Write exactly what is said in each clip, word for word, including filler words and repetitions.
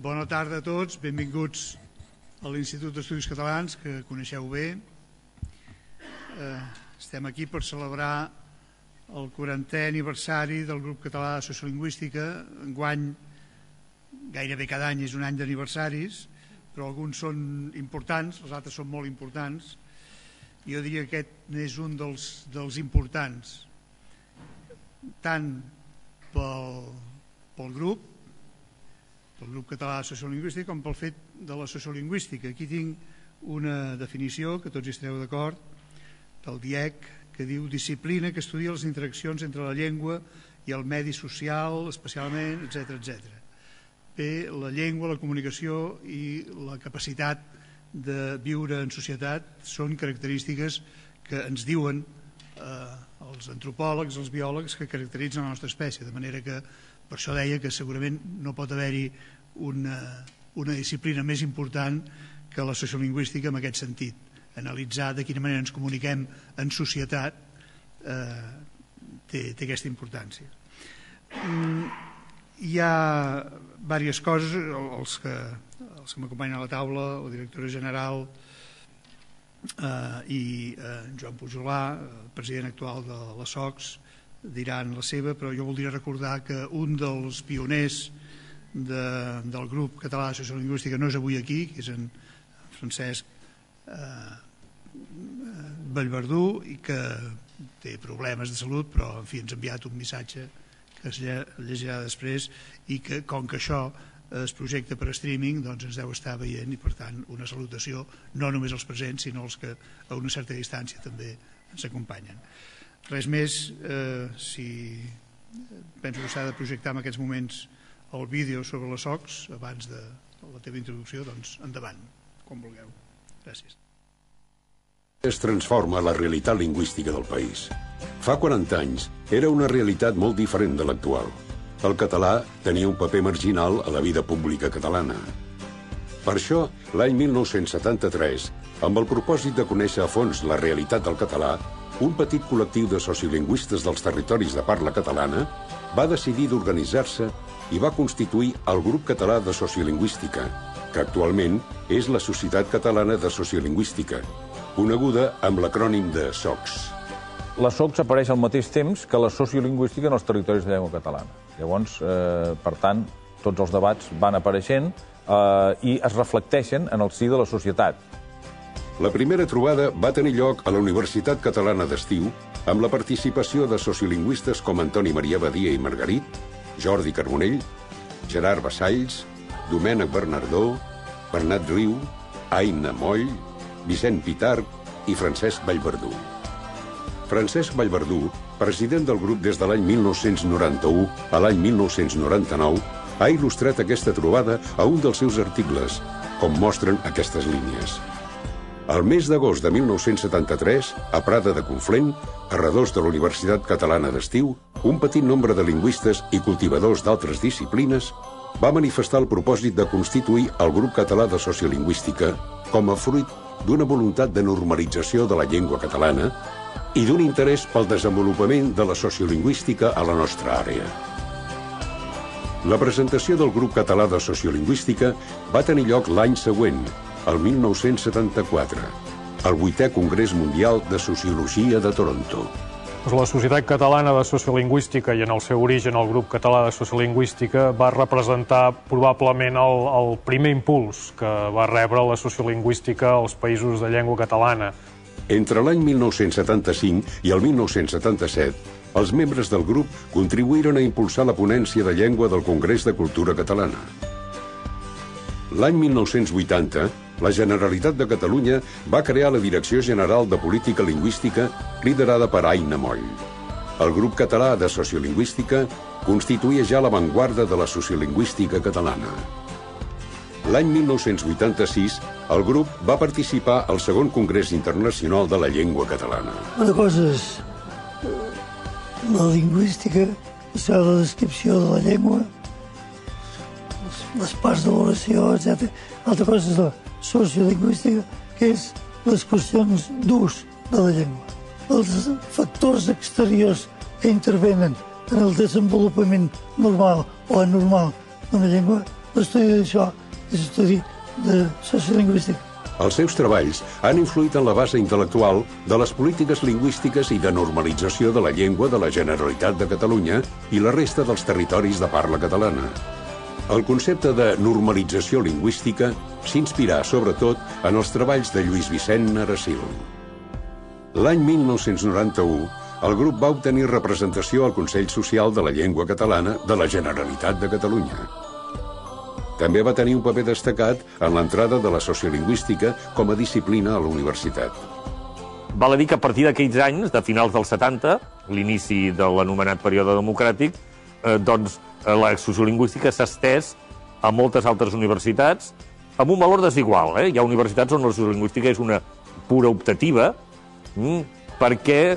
Bona tarda a tots, benvinguts a l'Institut d'Estudis Catalans, que coneixeu bé. Estem aquí per celebrar el quarantè aniversari del grup català de sociolingüística. Enguany, gairebé cada any és un any d'aniversaris, però alguns són importants, els altres són molt importants. Jo diria que aquest n'és un dels, dels importants, tant pel, pel grup, pel grup català de sociolingüística, com pel fet de la sociolingüística. Aquí tinc una definició, que tots hi estareu d'acord, del D I E C, que diu disciplina que estudia les interaccions entre la llengua i el medi social, especialment, etcètera, etcètera. Bé, la llengua, la comunicació i la capacitat de viure en societat són característiques que ens diuen eh, els antropòlegs, els biòlegs, que caracteritzen la nostra espècie, de manera que per això deia que segurament no pot haver-hi una, una disciplina més important que la sociolingüística en aquest sentit. Analitzar de quina manera ens comuniquem en societat eh, té, té aquesta importància. Mm, hi ha diverses coses, els que, els que m'acompanyen a la taula, la directora general eh, i eh, Joan Pujolà, el president actual de la SOCS, diran la seva, però jo voldria recordar que un dels pioners de, del grup català de sociolingüística no és avui aquí, que és en Francesc eh, Vallverdú, i que té problemes de salut, però en fi ens ha enviat un missatge que es llegirà després, i que com que això es projecta per streaming, doncs ens deu estar veient, i per tant una salutació no només als presents sinó als que a una certa distància també ens acompanyen. Res més, eh, si penso que s'ha de projectar en aquests moments el vídeo sobre la SOCS abans de la teva introducció, doncs endavant, com vulgueu. Gràcies. Es transforma la realitat lingüística del país. Fa quaranta anys era una realitat molt diferent de l'actual. El català tenia un paper marginal a la vida pública catalana. Per això, l'any mil nou-cents setanta-tres, amb el propòsit de conèixer a fons la realitat del català, un petit col·lectiu de sociolingüistes dels territoris de parla catalana va decidir d'organitzar-se i va constituir el Grup Català de Sociolingüística, que actualment és la Societat Catalana de Sociolingüística, coneguda amb l'acrònim de SOCS. La SOCS apareix al mateix temps que la sociolingüística en els territoris de llengua catalana. Llavors, eh, per tant, tots els debats van apareixent eh, i es reflecteixen en el si de la societat. La primera trobada va tenir lloc a la Universitat Catalana d'Estiu amb la participació de sociolingüistes com Antoni Maria Badia i Margarit, Jordi Carbonell, Gerard Vassalls, Domènec Bernardó, Bernat Riu, Aina Moll, Vicent Pitarch i Francesc Vallverdú. Francesc Vallverdú, president del grup des de l'any mil nou-cents noranta-u a l'any mil nou-cents noranta-nou, ha il·lustrat aquesta trobada a un dels seus articles, com mostren aquestes línies. Al mes d'agost de mil nou-cents setanta-tres, a Prada de Conflent, a redós de la Universitat Catalana d'Estiu, un petit nombre de lingüistes i cultivadors d'altres disciplines va manifestar el propòsit de constituir el Grup Català de Sociolingüística com a fruit d'una voluntat de normalització de la llengua catalana i d'un interès pel desenvolupament de la sociolingüística a la nostra àrea. La presentació del Grup Català de Sociolingüística va tenir lloc l'any següent, el mil nou-cents setanta-quatre, al vuitè Congrés Mundial de Sociologia de Toronto. La Societat Catalana de Sociolingüística i en el seu origen el Grup Català de Sociolingüística va representar probablement el, el primer impuls que va rebre la sociolingüística als països de llengua catalana. Entre l'any mil nou-cents setanta-cinc i el mil nou-cents setanta-set, els membres del grup contribuïren a impulsar la ponència de llengua del Congrés de Cultura Catalana. L'any mil nou-cents vuitanta, la Generalitat de Catalunya va crear la Direcció General de Política Lingüística, liderada per Aina Moll. El Grup Català de Sociolingüística constituïa ja l'avantguarda de la sociolingüística catalana. L'any mil nou-cents vuitanta-sis, el grup va participar al segon Congrés Internacional de la Llengua Catalana. Una cosa és la lingüística, això és la descripció de la llengua, les parts de l'oració, etcètera. Altra cosa és la sociolingüística, que és les qüestions d'ús de la llengua. Els factors exteriors que intervenen en el desenvolupament normal o anormal d'una llengua l'estudi d'això és l'estudi de sociolingüística. Els seus treballs han influït en la base intel·lectual de les polítiques lingüístiques i de normalització de la llengua de la Generalitat de Catalunya i la resta dels territoris de parla catalana. El concepte de normalització lingüística s'inspirà, sobretot, en els treballs de Lluís Vicent Aracil. L'any mil nou-cents noranta-u, el grup va obtenir representació al Consell Social de la Llengua Catalana de la Generalitat de Catalunya. També va tenir un paper destacat en l'entrada de la sociolingüística com a disciplina a la universitat. Val a dir que a partir d'aquells anys, de finals dels setanta, l'inici de l'anomenat període democràtic, eh, doncs la sociolingüística s'ha estès a moltes altres universitats amb un valor desigual. Eh? Hi ha universitats on la sociolingüística és una pura optativa, mm, perquè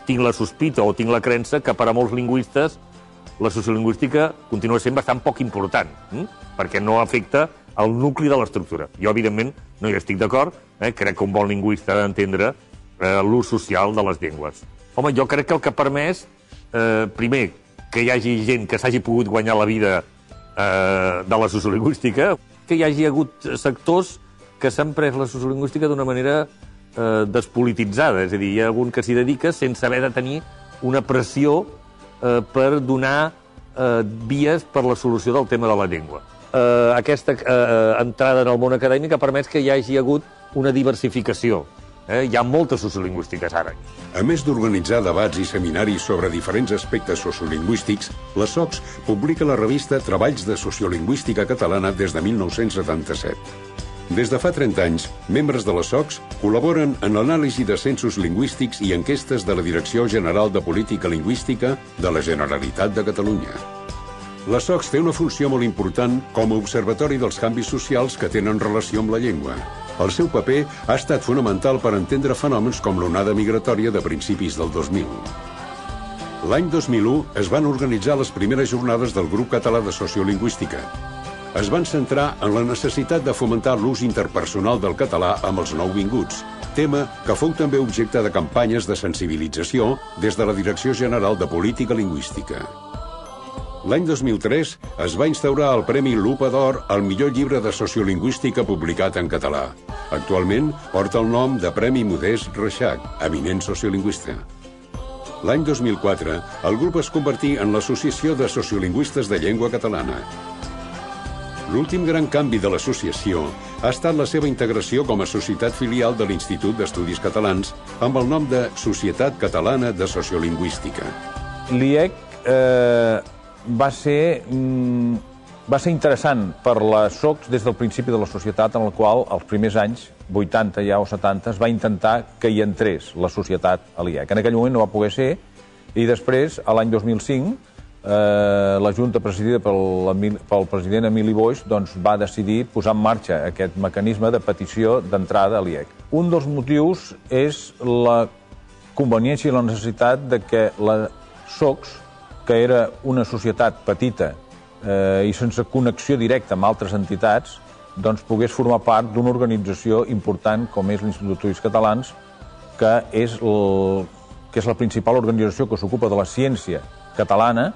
tinc la sospita o tinc la creença que per a molts lingüistes la sociolingüística continua sent bastant poc important, hm? perquè no afecta el nucli de l'estructura. Jo, evidentment, no hi estic d'acord, eh? crec que un bon lingüista ha d'entendre eh, l'ús social de les llengües. Home, jo crec que el que ha permès, eh, primer, que hi hagi gent que s'hagi pogut guanyar la vida eh, de la sociolingüística, que hi hagi hagut sectors que s'han pres la sociolingüística d'una manera eh, despolititzada, és a dir, hi ha algun que s'hi dedica sense haver de tenir una pressió eh, per donar eh, vies per la solució del tema de la llengua. Eh, aquesta eh, entrada en el món acadèmic ha permès que hi hagi hagut una diversificació. Eh? Hi ha moltes sociolingüístiques ara. A més d'organitzar debats i seminaris sobre diferents aspectes sociolingüístics, la SOCS publica la revista Treballs de Sociolingüística Catalana des de mil nou-cents setanta-set. Des de fa trenta anys, membres de la SOCS col·laboren en l'anàlisi de censos lingüístics i enquestes de la Direcció General de Política Lingüística de la Generalitat de Catalunya. La SOCS té una funció molt important com a observatori dels canvis socials que tenen relació amb la llengua. El seu paper ha estat fonamental per entendre fenòmens com l'onada migratòria de principis del dos mil. L'any dos mil u es van organitzar les primeres jornades del Grup Català de Sociolingüística. Es van centrar en la necessitat de fomentar l'ús interpersonal del català amb els nouvinguts, tema que fou també objecte de campanyes de sensibilització des de la Direcció General de Política Lingüística. L'any dos mil tres es va instaurar el Premi Lupa d'Or al millor llibre de sociolingüística publicat en català. Actualment porta el nom de Premi Modest Reixac, eminent sociolingüista. L'any dos mil quatre, el grup es convertí en l'Associació de Sociolingüistes de Llengua Catalana. L'últim gran canvi de l'associació ha estat la seva integració com a societat filial de l'Institut d'Estudis Catalans amb el nom de Societat Catalana de Sociolingüística. L'I E C eh, va ser, mm, va ser interessant per la SOCS des del principi de la societat, en el qual els primers anys, vuitanta ja o setanta, es va intentar que hi entrés la societat a l'I E C. En aquell moment no va poder ser, i després, a l'any dos mil cinc, eh, la Junta presidida pel, pel president Emili Boix doncs, va decidir posar en marxa aquest mecanisme de petició d'entrada a l'I E C. Un dels motius és la conveniència i la necessitat de que la SOCS, que era una societat petita eh, i sense connexió directa amb altres entitats, doncs pogués formar part d'una organització important com és l'Institut d'Estudis Catalans, que és, el, que és la principal organització que s'ocupa de la ciència catalana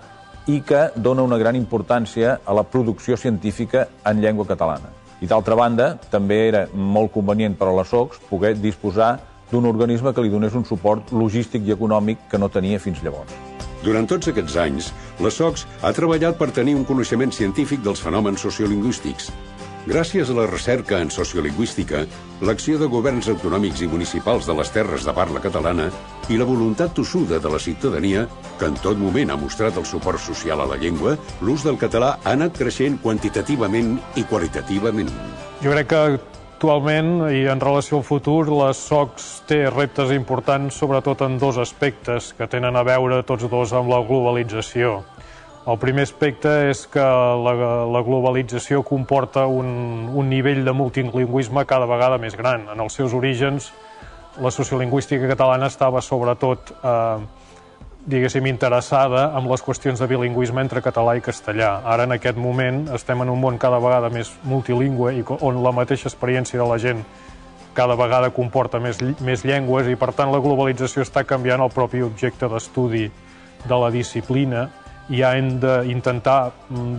i que dona una gran importància a la producció científica en llengua catalana. I d'altra banda, també era molt convenient per a la SOCS poder disposar d'un organisme que li donés un suport logístic i econòmic que no tenia fins llavors. Durant tots aquests anys, la SOCS ha treballat per tenir un coneixement científic dels fenòmens sociolingüístics. Gràcies a la recerca en sociolingüística, l'acció de governs autonòmics i municipals de les terres de parla catalana i la voluntat tossuda de la ciutadania, que en tot moment ha mostrat el suport social a la llengua, l'ús del català ha anat creixent quantitativament i qualitativament. Jo crec que actualment, i en relació al futur, la SOCS té reptes importants, sobretot en dos aspectes que tenen a veure tots dos amb la globalització. El primer aspecte és que la, la globalització comporta un, un nivell de multilingüisme cada vegada més gran. En els seus orígens, la sociolingüística catalana estava sobretot eh, diguéssim, interessada en les qüestions de bilingüisme entre català i castellà. Ara, en aquest moment, estem en un món cada vegada més multilingüe i on la mateixa experiència de la gent cada vegada comporta més, més llengües i, per tant, la globalització està canviant el propi objecte d'estudi de la disciplina i hem d'intentar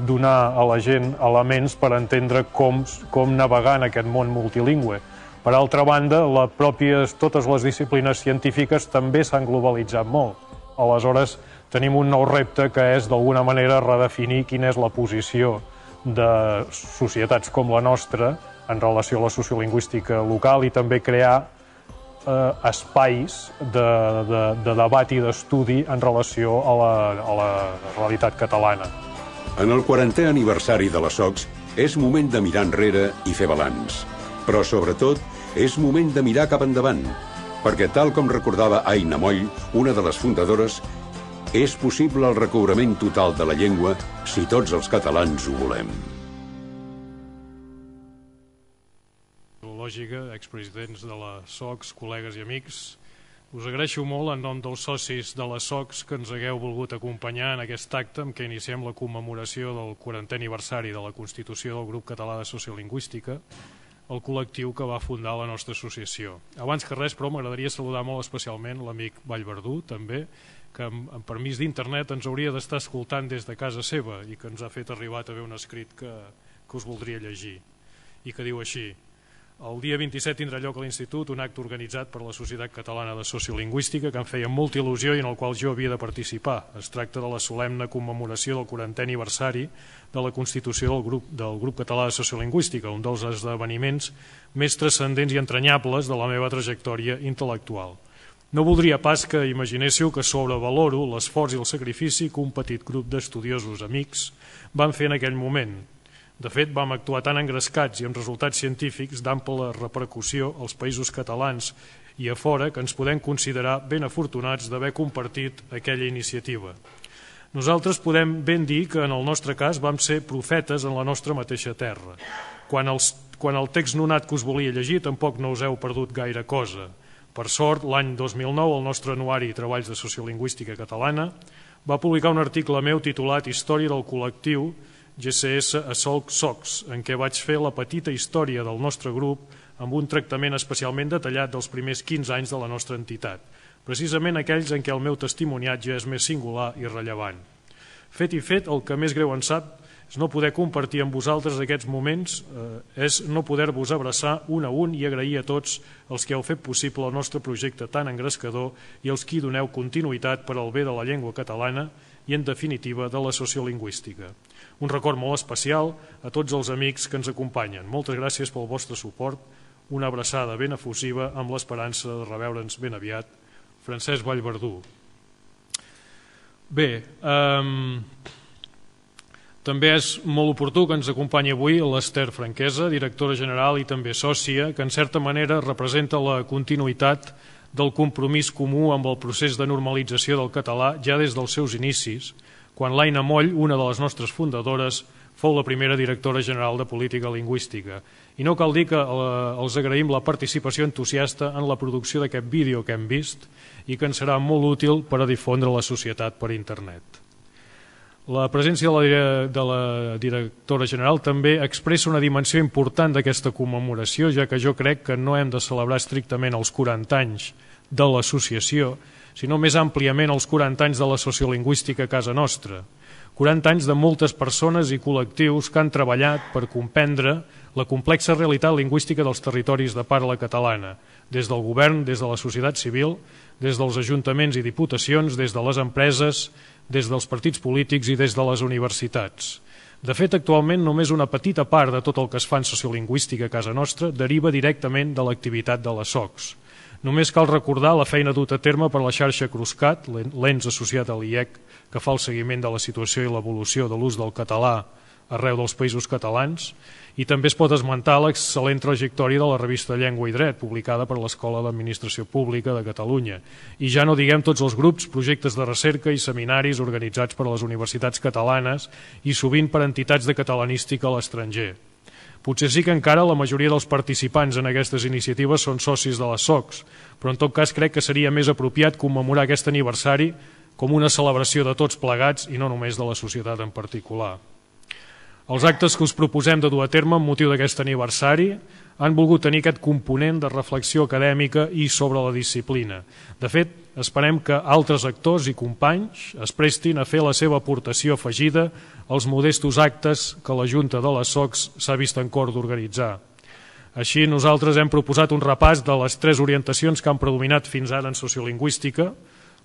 donar a la gent elements per entendre com, com navegar en aquest món multilingüe. Per altra banda, la pròpies, totes les disciplines científiques també s'han globalitzat molt. Aleshores, tenim un nou repte que és, d'alguna manera, redefinir quina és la posició de societats com la nostra en relació a la sociolingüística local i també crear eh, espais de, de, de debat i d'estudi en relació a la, a la realitat catalana. En el quarantè aniversari de la SOCS és moment de mirar enrere i fer balanç. Però, sobretot, és moment de mirar cap endavant, perquè, tal com recordava Aina Moll, una de les fundadores, és possible el recobrament total de la llengua si tots els catalans ho volem. Lògica, expresidents de la SOCS, col·legues i amics, us agraeixo molt en nom dels socis de la SOCS que ens hagueu volgut acompanyar en aquest acte amb què iniciem la commemoració del quarantè aniversari de la Constitució del Grup Català de Sociolingüística, el col·lectiu que va fundar la nostra associació. Abans que res, però, m'agradaria saludar molt especialment l'amic Vallverdú, també, que amb permís d'internet ens hauria d'estar escoltant des de casa seva i que ens ha fet arribar també un escrit que, que us voldria llegir i que diu així: el dia vint-i-set tindrà lloc a l'Institut un acte organitzat per la Societat Catalana de Sociolingüística que em feia molta il·lusió i en el qual jo havia de participar. Es tracta de la solemne commemoració del quarantè aniversari de la Constitució del Grup, del Grup Català de Sociolingüística, un dels esdeveniments més transcendents i entranyables de la meva trajectòria intel·lectual. No voldria pas que imaginéssiu que sobrevaloro l'esforç i el sacrifici que un petit grup d'estudiosos amics van fer en aquell moment. De fet, vam actuar tan engrescats i amb resultats científics d'ample repercussió als països catalans i a fora que ens podem considerar ben afortunats d'haver compartit aquella iniciativa. Nosaltres podem ben dir que en el nostre cas vam ser profetes en la nostra mateixa terra. Quan, els, quan el text nonat que us volia llegir tampoc no us heu perdut gaire cosa. Per sort, l'any dos mil nou, el nostre anuari Treballs de Sociolingüística Catalana va publicar un article meu titulat Història del col·lectiu G C S a Solc Socs, en què vaig fer la petita història del nostre grup amb un tractament especialment detallat dels primers quinze anys de la nostra entitat, precisament aquells en què el meu testimoniatge és més singular i rellevant. Fet i fet, el que més greu en sap és no poder compartir amb vosaltres aquests moments, eh, és no poder-vos abraçar un a un i agrair a tots els que heu fet possible el nostre projecte tan engrescador i els qui doneu continuïtat per al bé de la llengua catalana i, en definitiva, de la sociolingüística. Un record molt especial a tots els amics que ens acompanyen. Moltes gràcies pel vostre suport, una abraçada ben efusiva amb l'esperança de reveure'ns ben aviat. Francesc Vallverdú. Bé, eh, també és molt oportú que ens acompanyi avui l'Ester Franquesa, directora general i també sòcia, que en certa manera representa la continuïtat del compromís comú amb el procés de normalització del català ja des dels seus inicis, quan l'Aina Moll, una de les nostres fundadores, fou la primera directora general de Política Lingüística. I no cal dir que els agraïm la participació entusiasta en la producció d'aquest vídeo que hem vist i que ens serà molt útil per a difondre la societat per internet. La presència de la, de la directora general també expressa una dimensió important d'aquesta commemoració, ja que jo crec que no hem de celebrar estrictament els quaranta anys de l'associació, sinó més àmpliament els quaranta anys de la sociolingüística a casa nostra. quaranta anys de moltes persones i col·lectius que han treballat per comprendre la complexa realitat lingüística dels territoris de parla catalana, des del govern, des de la societat civil, des dels ajuntaments i diputacions, des de les empreses, des dels partits polítics i des de les universitats. De fet, actualment només una petita part de tot el que es fa en sociolingüística a casa nostra deriva directament de l'activitat de la SOCS. Només cal recordar la feina duta a terme per la xarxa Cruscat, l'ens associat a l'I E C, que fa el seguiment de la situació i l'evolució de l'ús del català arreu dels països catalans, i també es pot esmentar l'excel·lent trajectòria de la revista Llengua i Dret, publicada per l'Escola d'Administració Pública de Catalunya. I ja no diguem tots els grups, projectes de recerca i seminaris organitzats per les universitats catalanes i sovint per entitats de catalanística a l'estranger. Potser sí que encara la majoria dels participants en aquestes iniciatives són socis de les SOCS, però en tot cas crec que seria més apropiat commemorar aquest aniversari com una celebració de tots plegats i no només de la societat en particular. Els actes que us proposem de dur a terme amb motiu d'aquest aniversari han volgut tenir aquest component de reflexió acadèmica i sobre la disciplina. De fet, esperem que altres actors i companys es prestin a fer la seva aportació afegida als modestos actes que la Junta de les S O Cs s'ha vist en cor d'organitzar. Així, nosaltres hem proposat un repàs de les tres orientacions que han predominat fins ara en sociolingüística,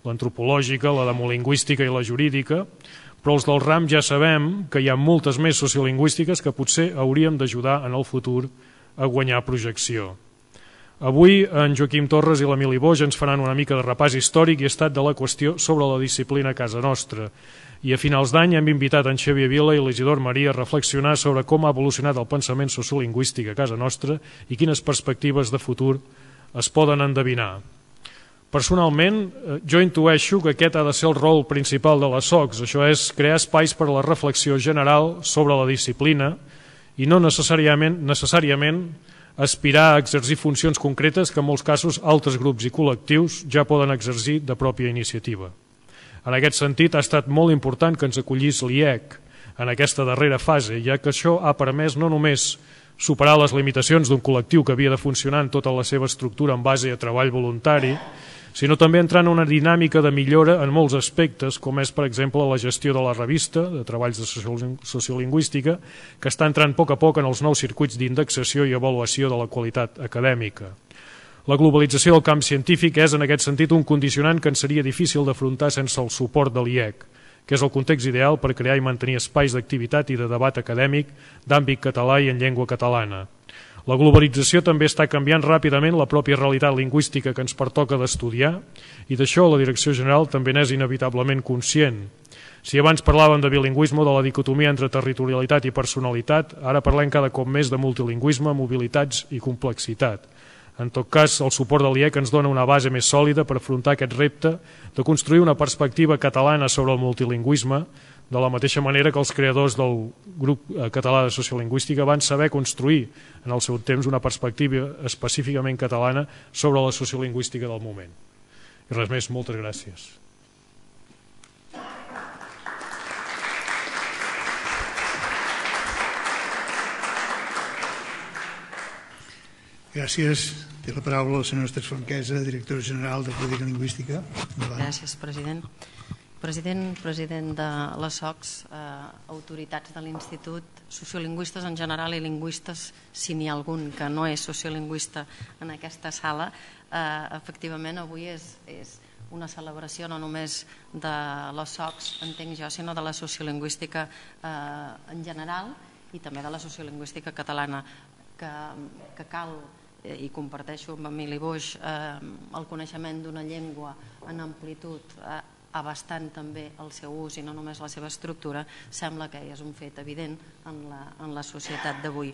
l'antropològica, la demolingüística i la jurídica, però els del RAM ja sabem que hi ha moltes més sociolingüístiques que potser hauríem d'ajudar en el futur a guanyar projecció. Avui en Joaquim Torres i l'Emili Boix ens faran una mica de repàs històric i estat de la qüestió sobre la disciplina a casa nostra. I a finals d'any hem invitat en Xavier Vila i l'Isidor Maria a reflexionar sobre com ha evolucionat el pensament sociolingüístic a casa nostra i quines perspectives de futur es poden endevinar. Personalment, jo intueixo que aquest ha de ser el rol principal de les S O Cs, això és crear espais per a la reflexió general sobre la disciplina i no necessàriament, necessàriament aspirar a exercir funcions concretes que en molts casos altres grups i col·lectius ja poden exercir de pròpia iniciativa. En aquest sentit, ha estat molt important que ens acollís l'I E C en aquesta darrera fase, ja que això ha permès no només superar les limitacions d'un col·lectiu que havia de funcionar en tota la seva estructura en base a treball voluntari, sinó també entrar en una dinàmica de millora en molts aspectes, com és, per exemple, la gestió de la revista de treballs de sociolingüística, que està entrant a poc a poc en els nous circuits d'indexació i avaluació de la qualitat acadèmica. La globalització del camp científic és, en aquest sentit, un condicionant que ens seria difícil d'afrontar sense el suport de l'I E C, que és el context ideal per crear i mantenir espais d'activitat i de debat acadèmic d'àmbit català i en llengua catalana. La globalització també està canviant ràpidament la pròpia realitat lingüística que ens pertoca d'estudiar i d'això la Direcció General també n'és inevitablement conscient. Si abans parlàvem de bilingüisme, de la dicotomia entre territorialitat i personalitat, ara parlem cada cop més de multilingüisme, mobilitats i complexitat. En tot cas, el suport de l'I E C ens dona una base més sòlida per afrontar aquest repte de construir una perspectiva catalana sobre el multilingüisme, de la mateixa manera que els creadors del grup català de sociolingüística van saber construir en el seu temps una perspectiva específicament catalana sobre la sociolingüística del moment. I res més, moltes gràcies. Gràcies. Té la paraula la senyora Esther Franquesa, directora general de Política Lingüística. Gràcies, president. President, president de les S O Cs, eh, autoritats de l'Institut, sociolingüistes en general i lingüistes, si n'hi ha algun que no és sociolingüista en aquesta sala, eh, efectivament avui és, és una celebració no només de les S O Cs, entenc jo, sinó de la sociolingüística eh, en general i també de la sociolingüística catalana, que, que cal, eh, i comparteixo amb Emili Boix, eh, el coneixement d'una llengua en amplitud, eh, abastant també el seu ús i no només la seva estructura, sembla que és un fet evident en la, en la societat d'avui.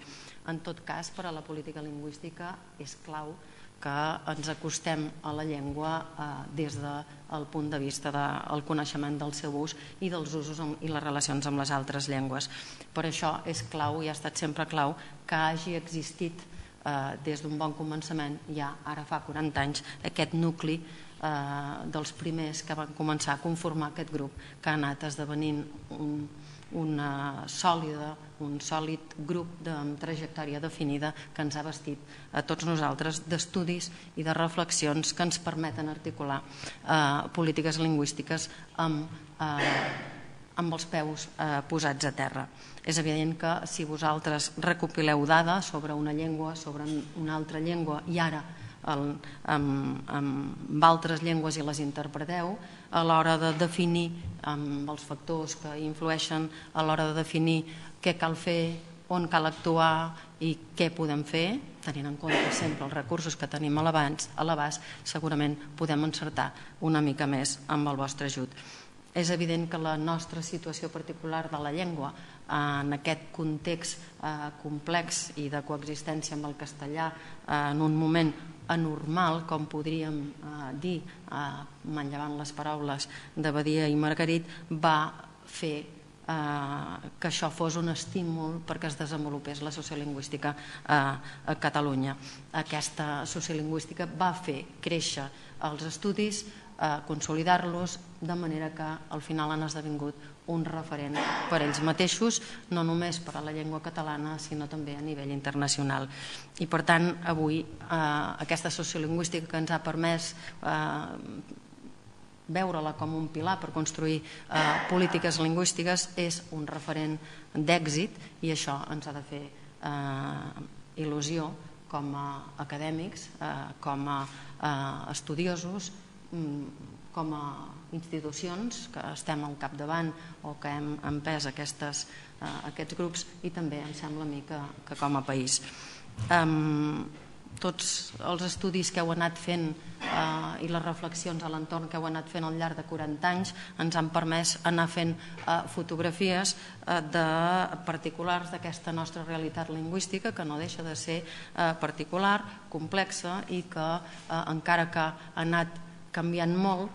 En tot cas, per a la política lingüística és clau que ens acostem a la llengua eh, des del punt de vista del coneixement del seu ús i dels usos i les relacions amb les altres llengües. Per això és clau i ha estat sempre clau que hagi existit eh, des d'un bon començament, ja ara fa quaranta anys, aquest nucli dels primers que van començar a conformar aquest grup que ha anat esdevenint un, una sòlida, un sòlid grup de trajectòria definida que ens ha vestit a tots nosaltres d'estudis i de reflexions que ens permeten articular eh, polítiques lingüístiques amb, eh, amb els peus eh, posats a terra. És evident que si vosaltres recopileu dades sobre una llengua, sobre una altra llengua i ara El, amb, amb altres llengües i les interpreteu, a l'hora de definir amb els factors que influeixen, a l'hora de definir què cal fer, on cal actuar i què podem fer, tenint en compte sempre els recursos que tenim a l'abast, segurament podem encertar una mica més amb el vostre ajut. És evident que la nostra situació particular de la llengua en aquest context eh, complex i de coexistència amb el castellà eh, en un moment anormal, com podríem eh, dir, eh, manllevant les paraules de Badia i Margarit, va fer eh, que això fos un estímul perquè es desenvolupés la sociolingüística eh, a Catalunya. Aquesta sociolingüística va fer créixer els estudis, consolidar-los, de manera que al final han esdevingut un referent per ells mateixos, no només per a la llengua catalana, sinó també a nivell internacional. I per tant, avui aquesta sociolingüística que ens ha permès veure-la com un pilar per construir polítiques lingüístiques és un referent d'èxit, i això ens ha de fer il·lusió com a acadèmics, com a estudiosos, com a institucions que estem al capdavant o que hem empès aquests grups, i també em sembla a mi que com a país. Tots els estudis que heu anat fent i les reflexions a l'entorn que heu anat fent al llarg de quaranta anys ens han permès anar fent fotografies de particulars d'aquesta nostra realitat lingüística, que no deixa de ser particular, complexa, i que encara que ha anat canviant molt,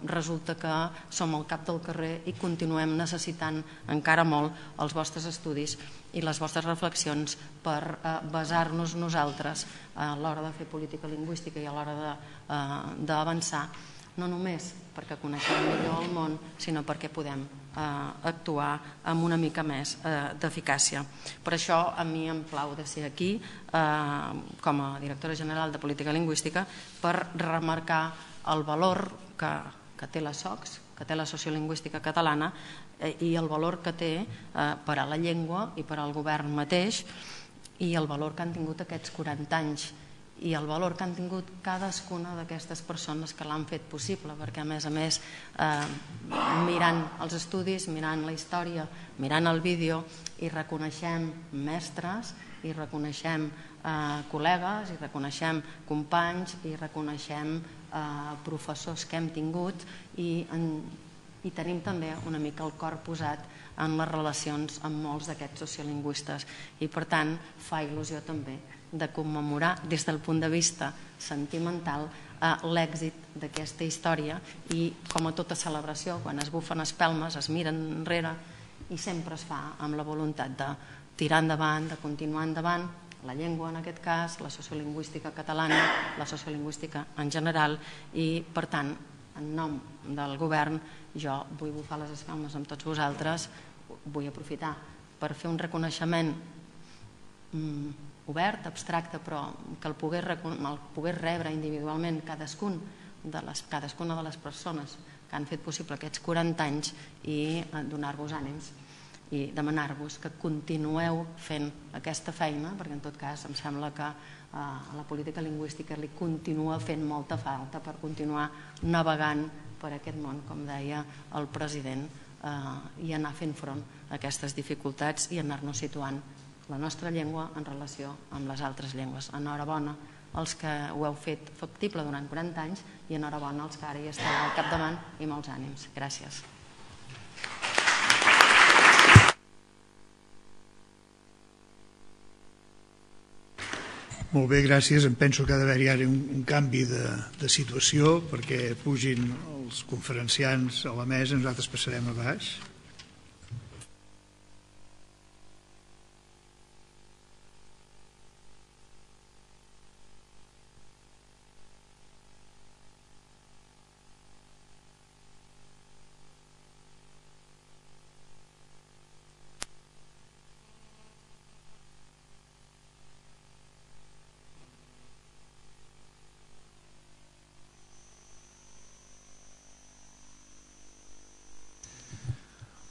resulta que som al cap del carrer i continuem necessitant encara molt els vostres estudis i les vostres reflexions per basar-nos nosaltres a l'hora de fer política lingüística i a l'hora d'avançar, no només perquè coneixem millor el món, sinó perquè podem actuar amb una mica més d'eficàcia. Per això a mi em plau de ser aquí com a directora general de Política Lingüística per remarcar el valor que té la SOCS, que té la sociolingüística catalana, i el valor que té per a la llengua i per al govern mateix, i el valor que han tingut aquests quaranta anys, i el valor que han tingut cadascuna d'aquestes persones que l'han fet possible, perquè a més a més, mirant els estudis, mirant la història, mirant el vídeo, hi reconeixem mestres, hi reconeixem col·legues, hi reconeixem companys, hi reconeixem professors que hem tingut, i tenim també una mica el cor posat en les relacions amb molts d'aquests sociolingüistes, i per tant fa il·lusió també de commemorar des del punt de vista sentimental l'èxit d'aquesta història, i com a tota celebració, quan es bufen espelmes, es miren enrere, i sempre es fa amb la voluntat de tirar endavant, de continuar endavant, la llengua en aquest cas, la sociolingüística catalana, la sociolingüística en general, i per tant, en nom del govern, jo vull bufar les espelmes amb tots vosaltres, vull aprofitar per fer un reconeixement obert, abstracte, però que el pogués rebre individualment cadascuna de les persones que han fet possible aquests quaranta anys, i donar-vos ànims i demanar-vos que continueu fent aquesta feina, perquè en tot cas em sembla que a la política lingüística li continua fent molta falta per continuar navegant per aquest món, com deia el president, i anar fent front a aquestes dificultats i anar-nos situant la nostra llengua en relació amb les altres llengües. Enhorabona als que ho heu fet factible durant quaranta anys, i enhorabona als que ara hi esteu al capdavant, i molts ànims. Gràcies. Molt bé, gràcies. Em penso que ha d'haver-hi ara un canvi de situació perquè pugin els conferenciants a la mesa, nosaltres passarem a baix.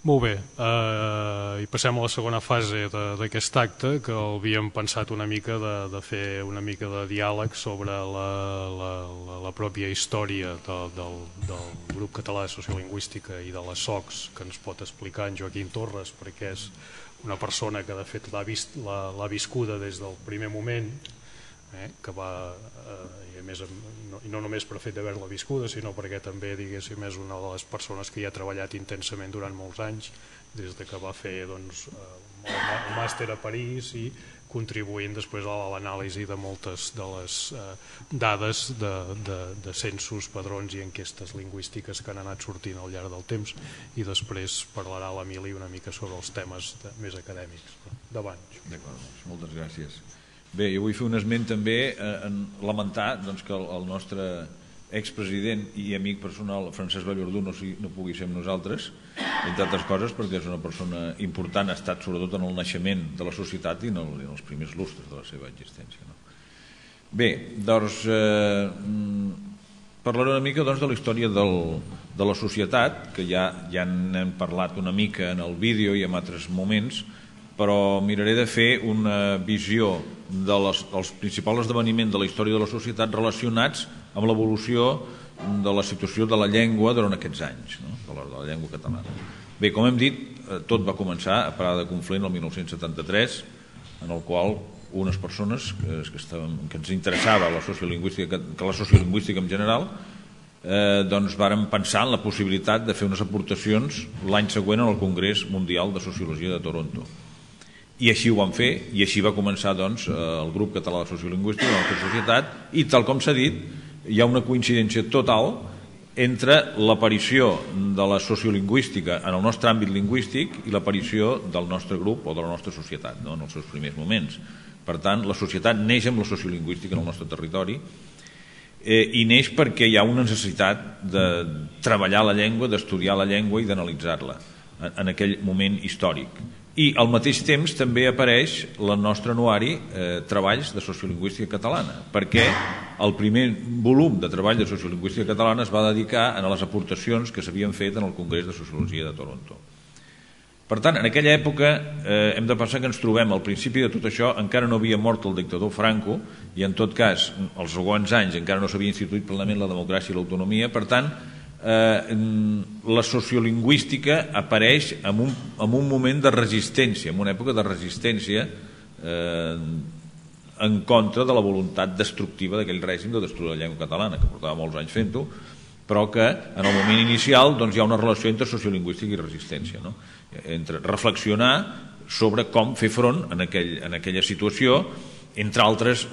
Molt bé, i passem a la segona fase d'aquest acte, que havíem pensat una mica de fer una mica de diàleg sobre la pròpia història del grup català de sociolingüística i de la SOCS, que ens pot explicar en Joaquim Torres, perquè és una persona que de fet l'ha viscuda des del primer moment, que va, i no només per fet d'haver-la viscuda, sinó perquè també, diguéssim, és una de les persones que hi ha treballat intensament durant molts anys, des que va fer el màster a París, i contribuint després a l'anàlisi de moltes de les dades de censos, padrons i enquestes lingüístiques que han anat sortint al llarg del temps, i després parlarà l'Emili una mica sobre els temes més acadèmics. Davant. D'acord, moltes gràcies. Bé, jo vull fer un esment també en lamentar que el nostre expresident i amic personal, Francesc Vallverdú, no, no pugui ser amb nosaltres, entre altres coses perquè és una persona important, ha estat sobretot en el naixement de la societat i en, el, en els primers lustres de la seva existència. No? Bé, doncs, eh, parlaré una mica doncs, de la història del, de la societat, que ja, ja n'hem parlat una mica en el vídeo i en altres moments, però miraré de fer una visió de les, dels principals esdeveniments de la història de la societat relacionats amb l'evolució de la situació de la llengua durant aquests anys, no? de, la, de la llengua catalana. Bé, com hem dit, tot va començar a Parada de Conflent el mil nou-cents setanta-tres, en el qual unes persones que, que, estaven, que ens interessava la sociolingüística, que la sociolingüística en general, eh, doncs vàrem pensar en la possibilitat de fer unes aportacions l'any següent en el Congrés Mundial de Sociologia de Toronto. I així ho vam fer, i així va començar doncs, el grup català de sociolingüística de la nostra societat, i tal com s'ha dit, hi ha una coincidència total entre l'aparició de la sociolingüística en el nostre àmbit lingüístic i l'aparició del nostre grup o de la nostra societat, no? En els seus primers moments. Per tant, la societat neix amb la sociolingüística en el nostre territori eh, i neix perquè hi ha una necessitat de treballar la llengua, d'estudiar la llengua i d'analitzar-la en, en aquell moment històric. I al mateix temps també apareix el nostre anuari eh, Treballs de Sociolingüística Catalana, perquè el primer volum de Treball de Sociolingüística Catalana es va dedicar a les aportacions que s'havien fet en el Congrés de Sociologia de Toronto. Per tant, en aquella època eh, hem de pensar que ens trobem al principi de tot això, encara no havia mort el dictador Franco i en tot cas, els següents anys encara no s'havia instituït plenament la democràcia i l'autonomia, per tant, Eh, la sociolingüística apareix en un, en un moment de resistència, en una època de resistència eh, en contra de la voluntat destructiva d'aquell règim de destruir la llengua catalana, que portava molts anys fent-ho, però que en el moment inicial doncs, hi ha una relació entre sociolingüística i resistència, no? Entre reflexionar sobre com fer front en, aquell, en aquella situació, entre altres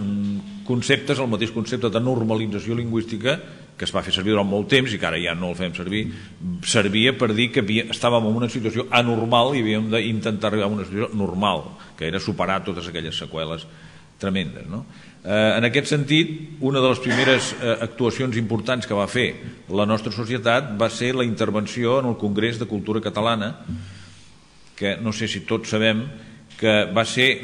conceptes, el mateix concepte de normalització lingüística que es va fer servir durant molt temps i que ara ja no el fem servir, servia per dir que havia, estàvem en una situació anormal i havíem d'intentar arribar a una situació normal, que era superar totes aquelles seqüeles tremendes. No? Eh, en aquest sentit, una de les primeres eh, actuacions importants que va fer la nostra societat va ser la intervenció en el Congrés de Cultura Catalana, que no sé si tots sabem que va ser,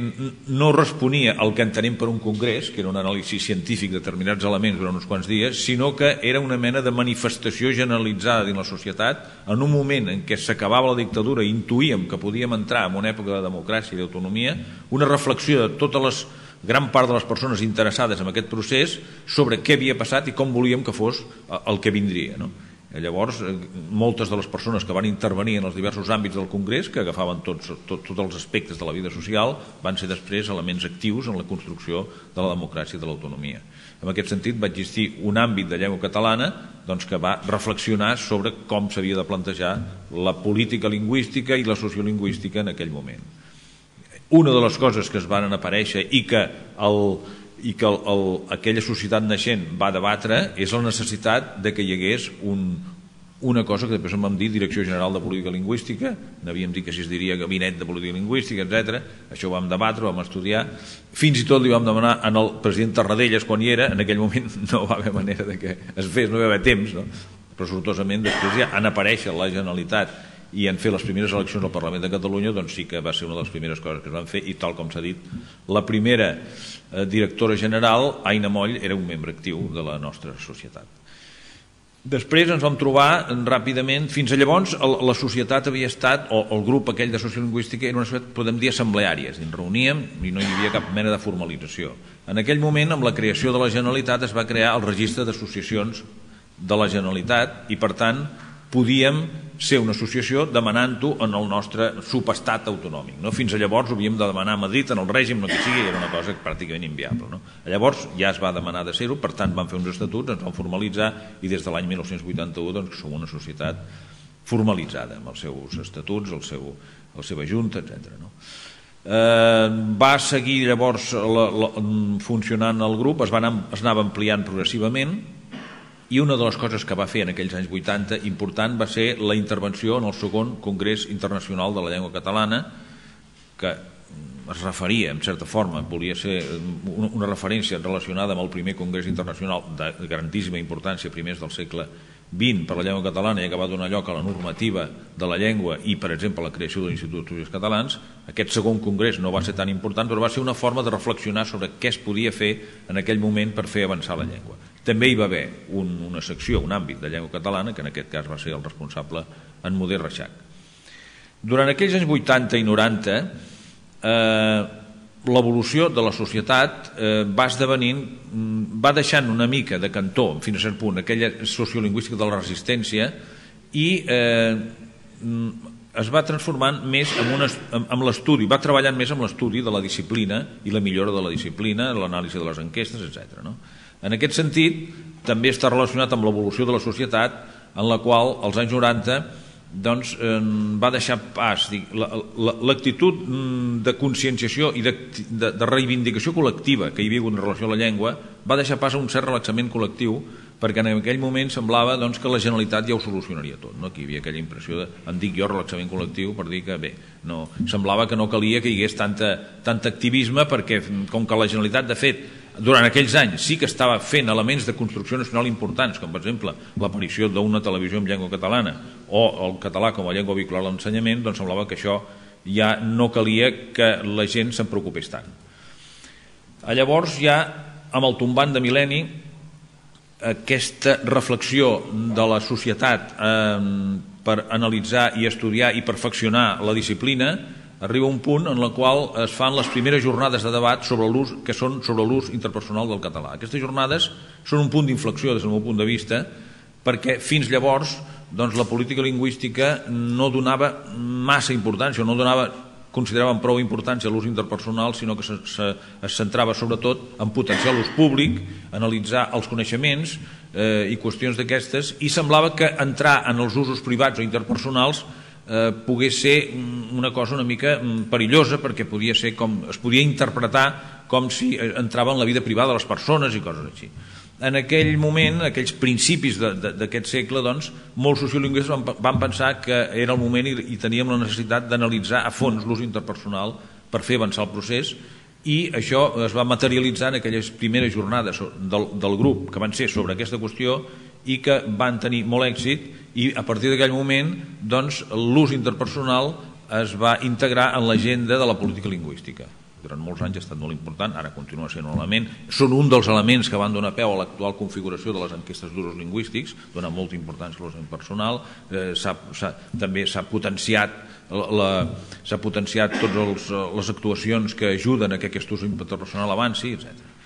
no responia al que entenem per un congrés, que era un anàlisi científic de determinats elements durant uns quants dies, sinó que era una mena de manifestació generalitzada dins la societat en un moment en què s'acabava la dictadura i intuïem que podíem entrar en una època de democràcia i d'autonomia, una reflexió de totes les gran part de les persones interessades en aquest procés sobre què havia passat i com volíem que fos el que vindria, no? Llavors, moltes de les persones que van intervenir en els diversos àmbits del Congrés, que agafaven tots, tot, tots els aspectes de la vida social, van ser després elements actius en la construcció de la democràcia i de l'autonomia. En aquest sentit, va existir un àmbit de llengua catalana doncs, que va reflexionar sobre com s'havia de plantejar la política lingüística i la sociolingüística en aquell moment. Una de les coses que es van aparèixer i que el i que el, el, aquella societat naixent va debatre és la necessitat de que hi hagués un, una cosa que després en vam dir Direcció General de Política Lingüística, n'havíem dit que si es diria Gabinet de Política Lingüística, etcètera. Això ho vam debatre, ho vam estudiar, fins i tot li vam demanar al president Tarradellas quan hi era, en aquell moment no va haver manera de que es fes, no hi va haver temps, no? Però sortosament després ja en aparèixer la Generalitat i en fer les primeres eleccions al Parlament de Catalunya, doncs sí que va ser una de les primeres coses que es van fer i tal com s'ha dit, la primera eh, directora general, Aina Moll, era un membre actiu de la nostra societat. Després ens vam trobar ràpidament, fins a llavors el, la societat havia estat, o el grup aquell de sociolingüística era una societat, podem dir, assembleària, ens reuníem i no hi havia cap mena de formalització. En aquell moment, amb la creació de la Generalitat, es va crear el registre d'associacions de la Generalitat i, per tant, podíem ser una associació demanant-ho en el nostre subestat autonòmic. No? Fins a llavors ho havíem de demanar a Madrid, en el règim, no que sigui, era una cosa pràcticament inviable. No? Llavors ja es va demanar de ser-ho, per tant vam fer uns estatuts, ens vam formalitzar i des de l'any mil nou-cents vuitanta-u doncs, som una societat formalitzada amb els seus estatuts, el seu, la seva junta, etcètera. No? Eh, va seguir llavors la, la, funcionant el grup, es, va anar, es anava ampliant progressivament. I una de les coses que va fer en aquells anys vuitanta important va ser la intervenció en el segon Congrés Internacional de la Llengua Catalana, que es referia, en certa forma, volia ser una referència relacionada amb el primer Congrés Internacional de grandíssima importància, primers del segle vint, per la llengua catalana, i que va donar lloc a la normativa de la llengua i, per exemple, la creació de l'Institut d'Estudis Catalans. Aquest segon congrés no va ser tan important, però va ser una forma de reflexionar sobre què es podia fer en aquell moment per fer avançar la llengua. També hi va haver un, una secció, un àmbit de llengua catalana, que en aquest cas va ser el responsable en Modest Reixac. Durant aquells anys vuitanta i noranta, eh, l'evolució de la societat eh, va esdevenint, va deixant una mica de cantó, fins a cert punt, aquella sociolingüística de la resistència, i eh, es va transformant més en, una, en l'estudi, va treballant més amb l'estudi de la disciplina i la millora de la disciplina, l'anàlisi de les enquestes, etcètera. No? En aquest sentit, també està relacionat amb l'evolució de la societat, en la qual, als anys noranta, doncs eh, va deixar pas l'actitud de conscienciació i de, de, de reivindicació col·lectiva que hi havia en relació a la llengua, va deixar pas a un cert relaxament col·lectiu, perquè en aquell moment semblava doncs, que la Generalitat ja ho solucionaria tot, no? Que hi havia aquella impressió de, en dic jo, relaxament col·lectiu, per dir que bé, no, semblava que no calia que hi hagués tanta, tant activisme, perquè com que la Generalitat, de fet, durant aquells anys sí que estava fent elements de construcció nacional importants, com per exemple l'aparició d'una televisió en llengua catalana o el català com a llengua vehicular a l'ensenyament, doncs semblava que això ja no calia que la gent se'n preocupés tant. Llavors ja amb el tombant de mil·lenni, aquesta reflexió de la societat eh, per analitzar i estudiar i perfeccionar la disciplina arriba un punt en el qual es fan les primeres jornades de debat sobre l'ús, que són sobre l'ús interpersonal del català. Aquestes jornades són un punt d'inflexió des del meu punt de vista, perquè fins llavors doncs, la política lingüística no donava massa importància, no donava, consideraven prou importància a l'ús interpersonal, sinó que se, se, es centrava sobretot en potenciar l'ús públic, analitzar els coneixements eh, i qüestions d'aquestes, i semblava que entrar en els usos privats o interpersonals Eh, pogués ser una cosa una mica perillosa, perquè podia ser com, es podia interpretar com si entrava en la vida privada de les persones i coses així. En aquell moment, aquells principis d'aquest segle, doncs, molts sociolingüistes van, van pensar que era el moment i, i teníem la necessitat d'analitzar a fons l'ús interpersonal per fer avançar el procés, i això es va materialitzar en aquelles primeres jornades del, del grup que van ser sobre aquesta qüestió i que van tenir molt èxit, i a partir d'aquell moment doncs, l'ús interpersonal es va integrar en l'agenda de la política lingüística. Durant molts anys ha estat molt important, ara continua sent un element, són un dels elements que van donar peu a l'actual configuració de les enquestes d'usos lingüístics, dona molta importància a l'ús personal, eh, també s'ha potenciat s'ha potenciat totes les actuacions que ajuden a que aquest ús interpersonal avanci, etcètera.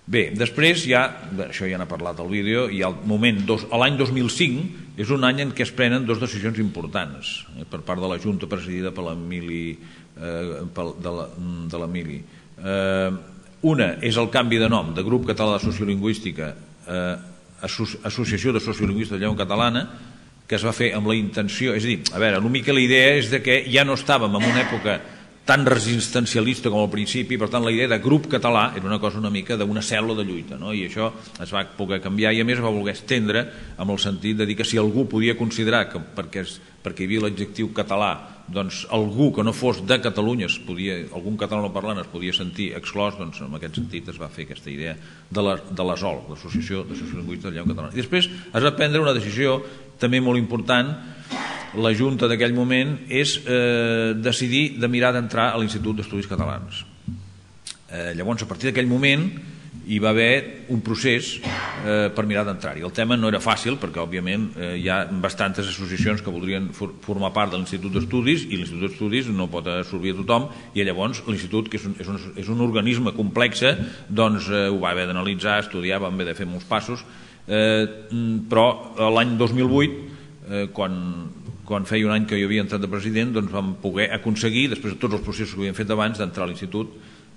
Bé, després ja, això ja n'ha parlat al vídeo, i al moment, l'any dos mil cinc és un any en què es prenen dues decisions importants eh, per part de la Junta presidida per l'Emili eh, de l'Emili. Eh, una és el canvi de nom de Grup Català de Sociolingüística eh, Associació de Sociolingüistes de Llengua Catalana, que es va fer amb la intenció, és a dir, a veure, una mica la idea és de que ja no estàvem en una època tan resistencialista com al principi, per tant la idea de grup català era una cosa una mica d'una cèl·lula de lluita, no? I això es va poder canviar i a més es va voler estendre amb el sentit de dir que si algú podia considerar que perquè, es, perquè hi havia l'adjectiu català, doncs algú que no fos de Catalunya, es podia, algun català no parlant es podia sentir exclòs, doncs en aquest sentit es va fer aquesta idea de la, de l'ASOL, l'Associació de Sociolingüistes de Llengua Catalana. I després es va prendre una decisió també molt important, la Junta d'aquell moment, és eh, decidir de mirar d'entrar a l'Institut d'Estudis Catalans. Eh, llavors, a partir d'aquell moment, hi va haver un procés eh, per mirar d'entrar-hi. El tema no era fàcil, perquè, òbviament, eh, hi ha bastantes associacions que voldrien for formar part de l'Institut d'Estudis, i l'Institut d'Estudis no pot absorbir a tothom, i llavors l'Institut, que és un, és, un, és un organisme complex, doncs eh, ho va haver d'analitzar, estudiar, vam haver de fer molts passos, eh, però l'any dos mil vuit, eh, quan quan feia un any que jo havia entrat de president, doncs vam poder aconseguir, després de tots els processos que havíem fet abans, d'entrar a l'institut.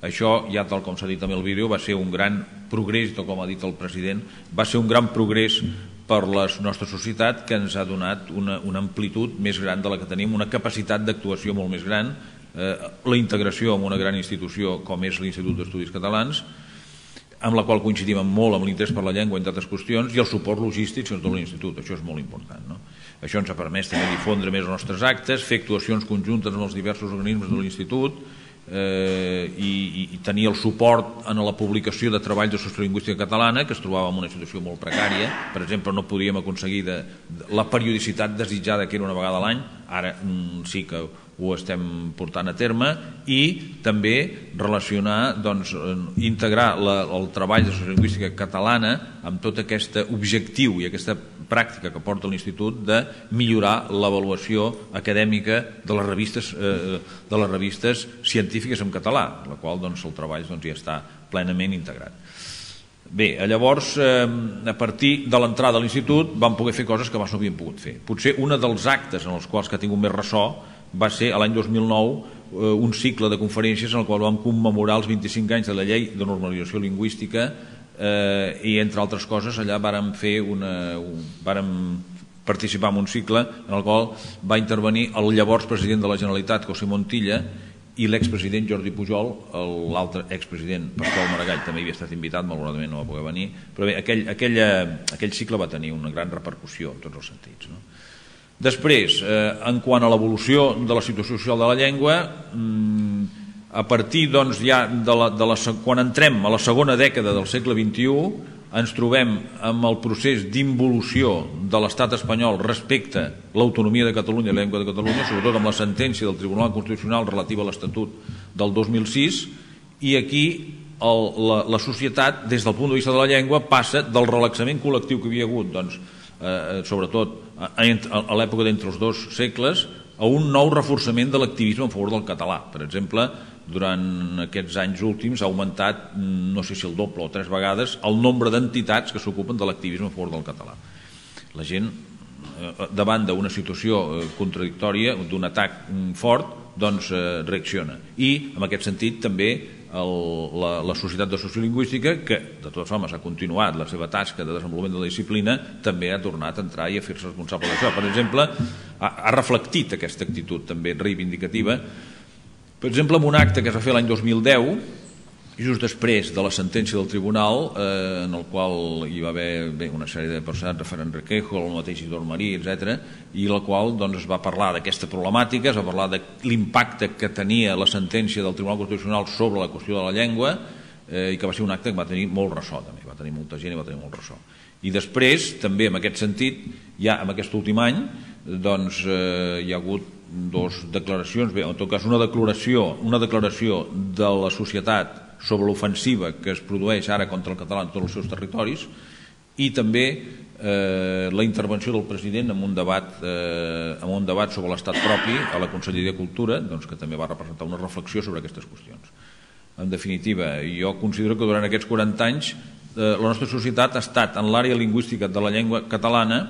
Això, ja tal com s'ha dit també al vídeo, va ser un gran progrés, tal com ha dit el president, va ser un gran progrés per la nostra societat que ens ha donat una, una amplitud més gran de la que tenim, una capacitat d'actuació molt més gran, eh, la integració en una gran institució com és l'Institut d'Estudis Catalans, amb la qual coincidim molt amb l'interès per la llengua, entre altres qüestions, i el suport logístic de l'Institut. Això és molt important, no? Això ens ha permès també difondre més els nostres actes, fer actuacions conjuntes amb els diversos organismes de l'Institut, i tenir el suport en la publicació de treballs de sociolingüística catalana, que es trobava en una situació molt precària. Per exemple, no podíem aconseguir la periodicitat desitjada, que era una vegada a l'any. Ara sí que ho estem portant a terme, i també relacionar, doncs, integrar el treball de sociolingüística catalana amb tot aquest objectiu i aquesta pràctica que porta l'Institut de millorar l'avaluació acadèmica de les revistes, de les revistes científiques en català, la qual doncs, el treball doncs, ja està plenament integrat. Bé, llavors, a partir de l'entrada a l'Institut vam poder fer coses que abans no havíem pogut fer. Potser un dels actes en els quals que ha tingut més ressò va ser l'any dos mil nou un cicle de conferències en el qual vam commemorar els vint-i-cinc anys de la llei de normalització lingüística, i entre altres coses allà vàrem fer una, vàrem participar en un cicle en el qual va intervenir el llavors president de la Generalitat, José Montilla, i l'expresident Jordi Pujol, l'altre expresident Pasqual Maragall també havia estat invitat, malauradament no va poder venir, però bé, aquell, aquell, aquell cicle va tenir una gran repercussió en tots els sentits, no? Després, en quant a l'evolució de la situació social de la llengua, a partir doncs, ja de la, de la, quan entrem a la segona dècada del segle vint-i-u, ens trobem amb el procés d'involució de l'estat espanyol respecte a l'autonomia de Catalunya i la llengua de Catalunya, sobretot amb la sentència del Tribunal Constitucional relativa a l'Estatut del dos mil sis, i aquí el, la, la societat, des del punt de vista de la llengua, passa del relaxament col·lectiu que havia hagut, doncs, eh, sobretot a, a l'època d'entre els dos segles, a un nou reforçament de l'activisme en favor del català. Per exemple, durant aquests anys últims ha augmentat, no sé si el doble o tres vegades, el nombre d'entitats que s'ocupen de l'activisme en favor del català. La gent, davant d'una situació contradictòria, d'un atac fort, doncs reacciona. I, en aquest sentit, també el, la, la Societat de Sociolingüística, que de totes formes ha continuat la seva tasca de desenvolupament de la disciplina, també ha tornat a entrar i a fer-se responsable d'això. Per exemple, ha, ha reflectit aquesta actitud també reivindicativa. Per exemple, en un acte que es va fer l'any dos mil deu, just després de la sentència del tribunal, eh, en el qual hi va haver bé, una sèrie de persones, Rafael Requejo, el mateix Isidor Marí, etcètera, i la qual doncs, es va parlar d'aquesta problemàtica, es va parlar de l'impacte que tenia la sentència del Tribunal Constitucional sobre la qüestió de la llengua, eh, i que va ser un acte que va tenir molt ressò, també, va tenir molta gent i va tenir molt ressò. I després, també en aquest sentit, ja en aquest últim any, doncs, eh, hi ha hagut dues declaracions, bé, en tot cas una declaració, una declaració de la societat sobre l'ofensiva que es produeix ara contra el català en tots els seus territoris, i també eh, la intervenció del president en un debat, eh, en un debat sobre l'estat propi a la Conselleria de Cultura, doncs, que també va representar una reflexió sobre aquestes qüestions. En definitiva, jo considero que durant aquests quaranta anys eh, la nostra societat ha estat en l'àrea lingüística de la llengua catalana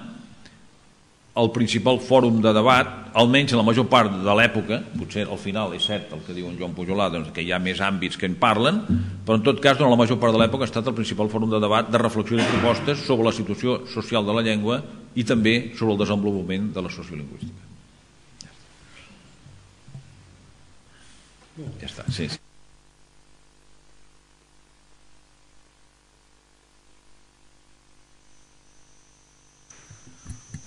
el principal fòrum de debat, almenys en la major part de l'època. Potser al final és cert el que diu en Joan Pujolà, doncs, que hi ha més àmbits que en parlen, però en tot cas durant la major part de l'època ha estat el principal fòrum de debat, de reflexió i propostes sobre la situació social de la llengua i també sobre el desenvolupament de la sociolingüística. Ja està, sí, sí.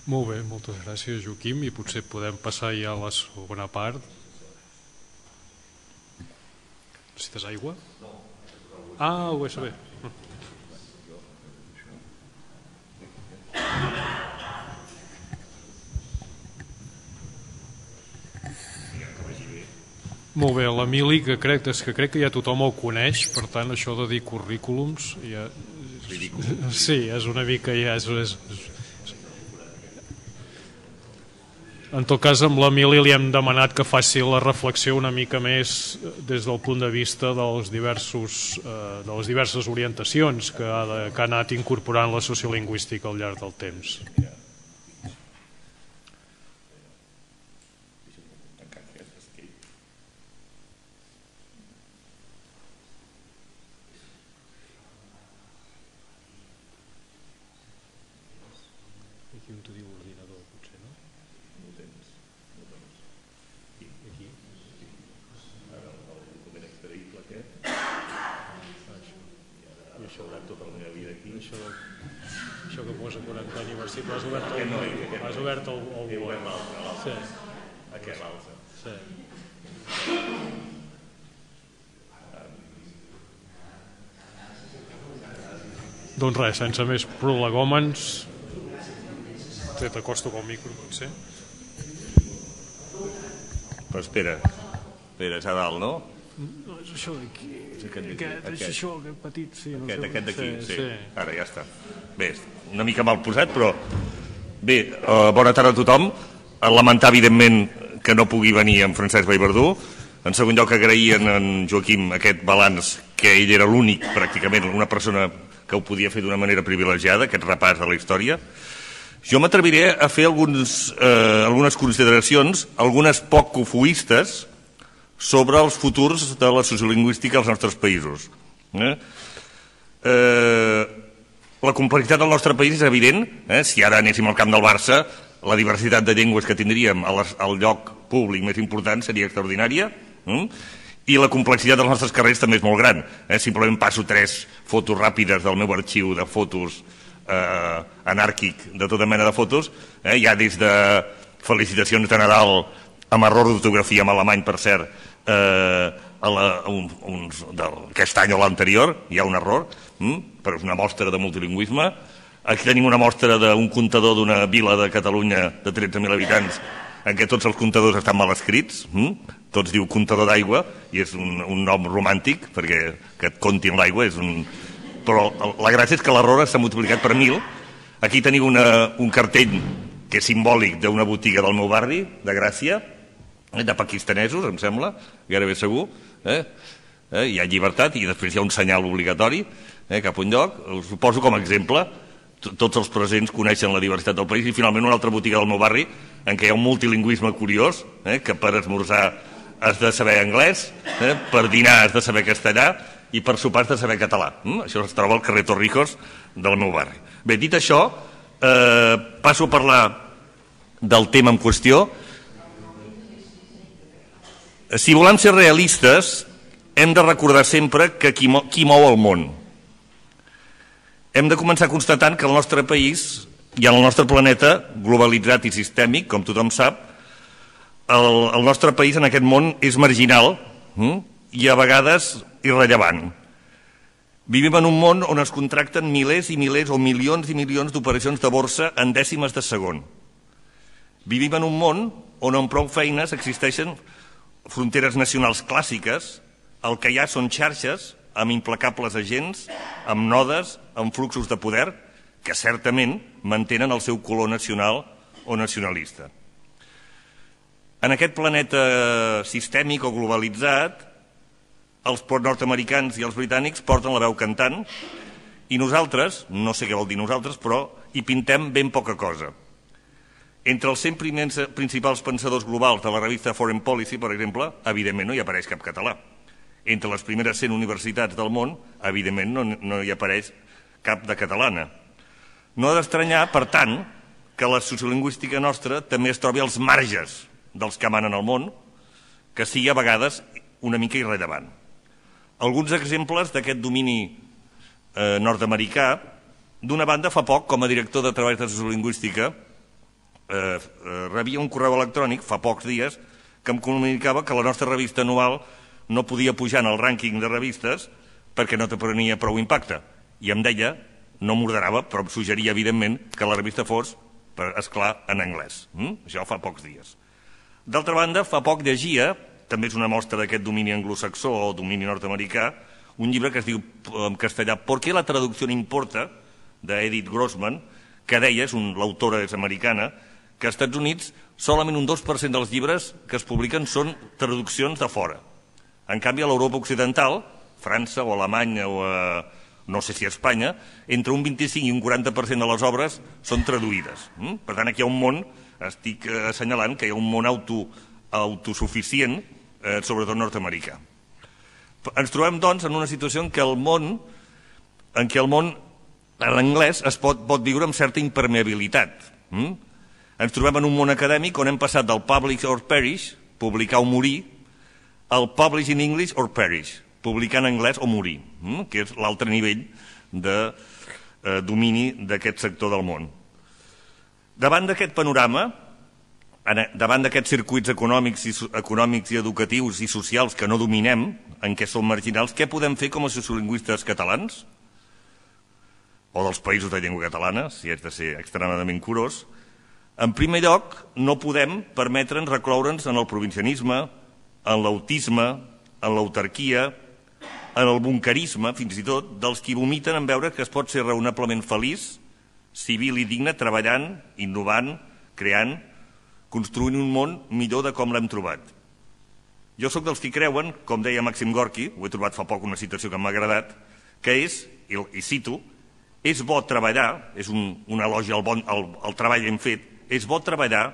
Molt bé, moltes gràcies, Joaquim, i potser podem passar ja a la segona part. Necessites aigua? Ah, ho és bé. Molt bé, l'Emili, que crec, que crec que ja tothom el coneix, per tant, això de dir currículums ja... Sí, és una mica ja... És, és, En tot cas, amb l'Emili li hem demanat que faci la reflexió una mica més des del punt de vista dels diversos, eh, de les diverses orientacions que ha, de, que ha anat incorporant la sociolingüística al llarg del temps. Això que posa quaranta aniversari, has obert el Word. Has obert el Word. Sí. Aquest l'altre. Sí. Doncs res, sense més prolegòmens, t'acosto pel micro, potser. Però espera, espera, és a dalt, no? No, és això d'aquí. Aquest, és això, aquest petit, sí. No aquest, sé, aquest d'aquí, sí, sí, sí. Ara ja està. Bé, una mica mal posat, però... Bé, uh, bona tarda a tothom. Lamentar, evidentment, que no pugui venir en Francesc Vallverdú. En segon lloc, agrair en Joaquim aquest balanç, que ell era l'únic, pràcticament, una persona que ho podia fer d'una manera privilegiada, aquest repàs de la història. Jo m'atreviré a fer alguns, eh, algunes consideracions, algunes poc cofoistes, sobre els futurs de la sociolingüística als nostres països. Eh? Eh, la complexitat del nostre país és evident. Eh? Si ara anéssim al camp del Barça, la diversitat de llengües que tindríem al lloc públic més important seria extraordinària. Eh? I la complexitat dels nostres carrers també és molt gran. Eh? Simplement passo tres fotos ràpides del meu arxiu de fotos eh, anàrquic, de tota mena de fotos. Eh? Hi ha des de felicitacions de Nadal amb error d'ortografia en alemany, per cert, eh, a la, un, uns, d'aquest any o l'anterior, hi ha un error, hm? però és una mostra de multilingüisme. Aquí tenim una mostra d'un comptador d'una vila de Catalunya de tretze mil habitants, en què tots els comptadors estan mal escrits, hm? Tots diu comptador d'aigua, i és un, un nom romàntic, perquè que et comptin l'aigua és un... Però la gràcia és que l'error s'ha multiplicat per mil. Aquí teniu una, un cartell que és simbòlic d'una botiga del meu barri, de Gràcia, de pakistanesos, em sembla, gairebé segur. Eh? Eh? Hi ha llibertat i després hi ha un senyal obligatori eh, cap a un lloc. Us ho poso com a exemple. Tots els presents coneixen la diversitat del país. I finalment una altra botiga del meu barri en què hi ha un multilingüisme curiós, eh, que per esmorzar has de saber anglès, eh, per dinar has de saber castellà i per sopar has de saber català. Mm? Això es troba al carrer Torrijos del meu barri. Bé, dit això, eh, passo a parlar del tema en qüestió. Si volem ser realistes, hem de recordar sempre que qui mou, qui mou el món. Hem de començar constatant que el nostre país i en el nostre planeta, globalitzat i sistèmic, com tothom sap, el, el nostre país en aquest món és marginal hm? i a vegades irrellevant. Vivim en un món on es contracten milers i milers o milions i milions d'operacions de borsa en dècimes de segon. Vivim en un món on amb prou feines existeixen fronteres nacionals clàssiques, el que hi ha són xarxes amb implacables agents, amb nodes, amb fluxos de poder, que certament mantenen el seu color nacional o nacionalista. En aquest planeta sistèmic o globalitzat, els nord-americans i els britànics porten la veu cantant i nosaltres, no sé què vol dir nosaltres, però hi pintem ben poca cosa. Entre els cent primers, principals pensadors globals de la revista Foreign Policy, per exemple, evidentment no hi apareix cap català. Entre les primeres cent universitats del món, evidentment no, no hi apareix cap de catalana. No ha d'estranyar, per tant, que la sociolingüística nostra també es trobi als marges dels que manen al món, que sigui a vegades una mica irrellevant. Alguns exemples d'aquest domini eh, nord-americà, d'una banda, fa poc, com a director de treballs de sociolingüística, Eh, eh, rebia un correu electrònic fa pocs dies que em comunicava que la nostra revista anual no podia pujar en el rànquing de revistes perquè no te prenia prou impacte i em deia, no m'ordenava però em suggeria evidentment que la revista fos per esclar en anglès. mm? Això fa pocs dies. D'altra banda, fa poc llegia, també és una mostra d'aquest domini anglosaxó o domini nord-americà, un llibre que es diu en castellà ¿Por qué la traducción importa?, d'Edith Grossman, que deia, l'autora és americana, que als Estats Units solament un dos per cent dels llibres que es publiquen són traduccions de fora. En canvi, a l'Europa occidental, França o Alemanya o a, no sé si a Espanya, entre un vint-i-cinc i un quaranta per cent de les obres són traduïdes. Per tant, aquí hi ha un món, estic assenyalant que hi ha un món auto, autosuficient, eh, sobretot nord-americà. Ens trobem, doncs, en una situació en què el món, en què el món, en l'anglès, es pot, pot viure amb certa impermeabilitat. Mm? Ens trobem en un món acadèmic on hem passat del publish or perish, publicar o morir, al publish in English or perish, publicar en anglès o morir, mm? que és l'altre nivell de eh, domini d'aquest sector del món. Davant d'aquest panorama, davant d'aquests circuits econòmics i, econòmics i educatius i socials que no dominem, en què som marginals, què podem fer com a sociolingüistes catalans? o dels països de llengua catalana, si haig de ser extremadament curós, en primer lloc, no podem permetre'ns recloure'ns en el provincianisme, en l'autisme, en l'autarquia, en el bunquerisme, fins i tot, dels qui vomiten en veure que es pot ser raonablement feliç, civil i digne, treballant, innovant, creant, construint un món millor de com l'hem trobat. Jo sóc dels qui creuen, com deia Màxim Gorki, ho he trobat fa poc una citació que m'ha agradat, que és, i, i cito, és bo treballar, és un, un elogi al, bon, al, al treball ben fet, és bo treballar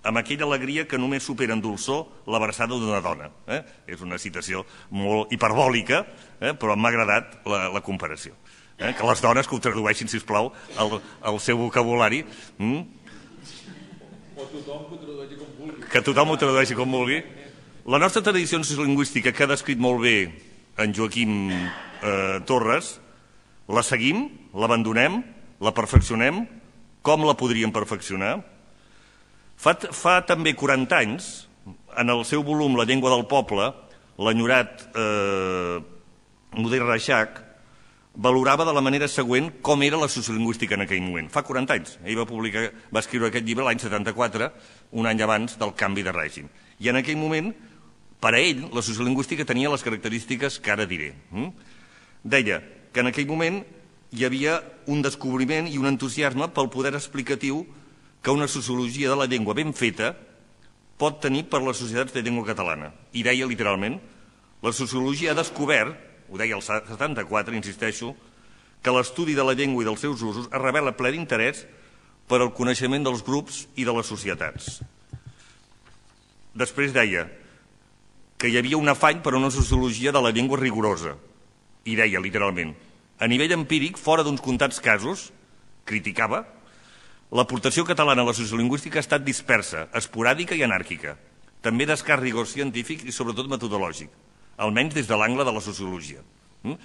amb aquella alegria que només supera en dolçor l'abraçada d'una dona. Eh? És una citació molt hiperbòlica, eh? però m'ha agradat la, la comparació. Eh? Que les dones que ho tradueixin, sisplau, al, al seu vocabulari. Mm? O tothom que ho tradueixi com vulgui. Que tothom ho tradueixi com vulgui. La nostra tradició sociolingüística, que ha descrit molt bé en Joaquim eh, Torres, la seguim, l'abandonem, la perfeccionem, com la podríem perfeccionar? Fa, fa també quaranta anys, en el seu volum La llengua del poble, l'enyorat eh, Modest Reixac valorava de la manera següent com era la sociolingüística en aquell moment. Fa quaranta anys. Ell va, publicar, va escriure aquest llibre l'any setanta-quatre, un any abans del canvi de règim. I en aquell moment, per a ell, la sociolingüística tenia les característiques que ara diré. Deia que en aquell moment hi havia un descobriment i un entusiasme pel poder explicatiu que una sociologia de la llengua ben feta pot tenir per les societats de llengua catalana. I deia literalment, la sociologia ha descobert, ho deia el setanta-quatre, insisteixo, que l'estudi de la llengua i dels seus usos es revela ple d'interès per al coneixement dels grups i de les societats. Després deia que hi havia un afany per a una sociologia de la llengua rigorosa. I deia literalment, a nivell empíric, fora d'uns comptats casos, criticava, l'aportació catalana a la sociolingüística ha estat dispersa, esporàdica i anàrquica, també d'escàs rigor científic i sobretot metodològic, almenys des de l'angle de la sociologia. Mm?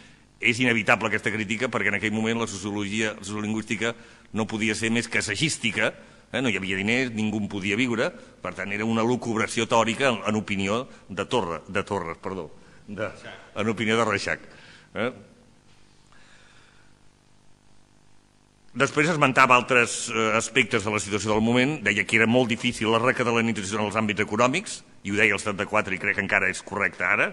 És inevitable aquesta crítica perquè en aquell moment la sociologia la sociolingüística no podia ser més que assagística, eh? No hi havia diners, ningú en podia viure, per tant era una lucubració teòrica en, en opinió de, Torre, de Torres, perdó, de, en opinió de Reixac. Eh? Després esmentava altres aspectes de la situació del moment, deia que era molt difícil la recatalonització en els àmbits econòmics, i ho deia el setanta-quatre i crec que encara és correcte ara,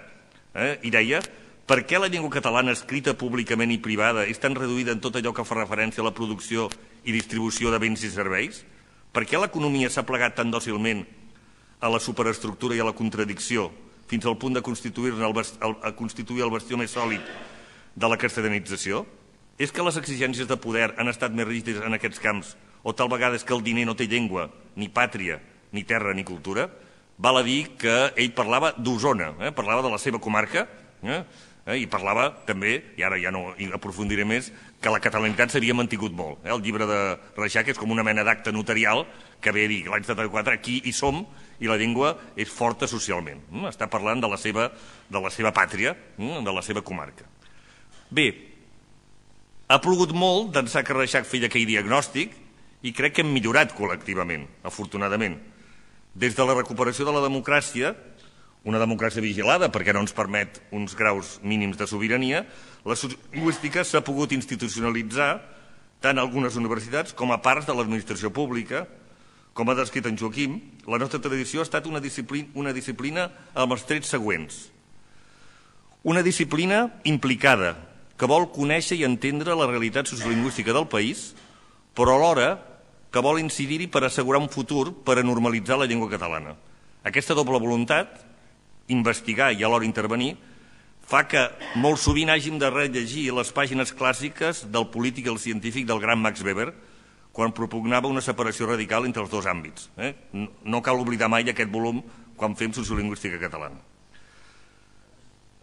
eh? I deia, per què la llengua catalana escrita públicament i privada és tan reduïda en tot allò que fa referència a la producció i distribució de béns i serveis? Per què l'economia s'ha plegat tan dòcilment a la superestructura i a la contradicció fins al punt de constituir-ne el, el, a constituir el bastió més sòlid de la castellanització? És que les exigències de poder han estat més rígides en aquests camps o tal vegada és que el diner no té llengua, ni pàtria, ni terra, ni cultura? Val a dir que ell parlava d'Osona, eh? Parlava de la seva comarca, eh? Eh? I parlava també, i ara ja no hi aprofundiré més, que la catalanitat s'havia mantingut molt. Eh? El llibre de Reixac és com una mena d'acte notarial que ve a dir que l'any setanta-quatre aquí hi som i la llengua és forta socialment. Mm? Està parlant de la seva, de la seva pàtria, mm? De la seva comarca. Bé, ha plogut molt d'ençà que Reixac feia aquell diagnòstic i crec que hem millorat col·lectivament, afortunadament. Des de la recuperació de la democràcia, una democràcia vigilada perquè no ens permet uns graus mínims de sobirania, la sociolingüística s'ha pogut institucionalitzar tant a algunes universitats com a parts de l'administració pública. Com ha descrit en Joaquim, la nostra tradició ha estat una disciplina, una disciplina amb els trets següents. Una disciplina implicada, que vol conèixer i entendre la realitat sociolingüística del país, però alhora que vol incidir-hi per assegurar un futur per a normalitzar la llengua catalana. Aquesta doble voluntat, investigar i alhora intervenir, fa que molt sovint hàgim de rellegir les pàgines clàssiques del polític i el científic del gran Max Weber, quan propugnava una separació radical entre els dos àmbits. Eh? No cal oblidar mai aquest volum quan fem sociolingüística catalana.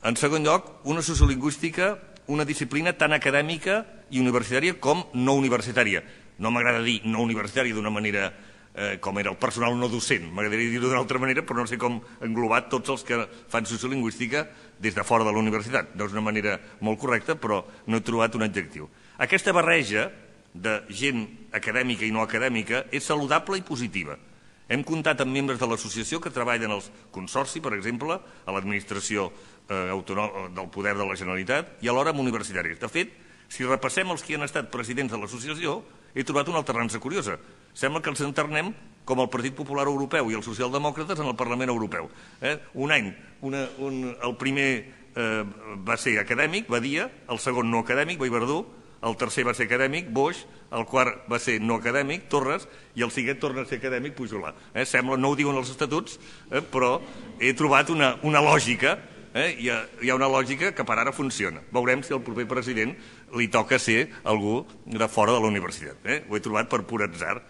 En segon lloc, una sociolingüística, una disciplina tan acadèmica i universitària com no universitària. No m'agrada dir no universitària d'una manera eh, com era el personal no docent, m'agradaria dir-ho d'una altra manera, però no sé com englobar tots els que fan sociolingüística des de fora de la universitat. No és una manera molt correcta, però no he trobat un adjectiu. Aquesta barreja de gent acadèmica i no acadèmica és saludable i positiva. Hem comptat amb membres de l'associació que treballen al Consorci, per exemple, a l'administració eh, del poder de la Generalitat i alhora amb universitaris. De fet, Si repassem els que han estat presidents de l'associació, he trobat una alternança curiosa. Sembla que els enternem com el Partit Popular Europeu i els socialdemòcrates en el Parlament Europeu. Eh? Un any, una, un, el primer eh, va ser acadèmic, Badia, el segon no acadèmic, Vallverdú, el tercer va ser acadèmic, Boix, el quart va ser no acadèmic, Torres, i el cinquè torna a ser acadèmic, Pujolà. Eh? Sembla, no ho diuen els estatuts, eh, però he trobat una, una lògica, eh? hi, ha, hi ha una lògica que per ara funciona. Veurem si al proper president li toca ser algú de fora de la universitat. Eh? Ho he trobat per pur atzar.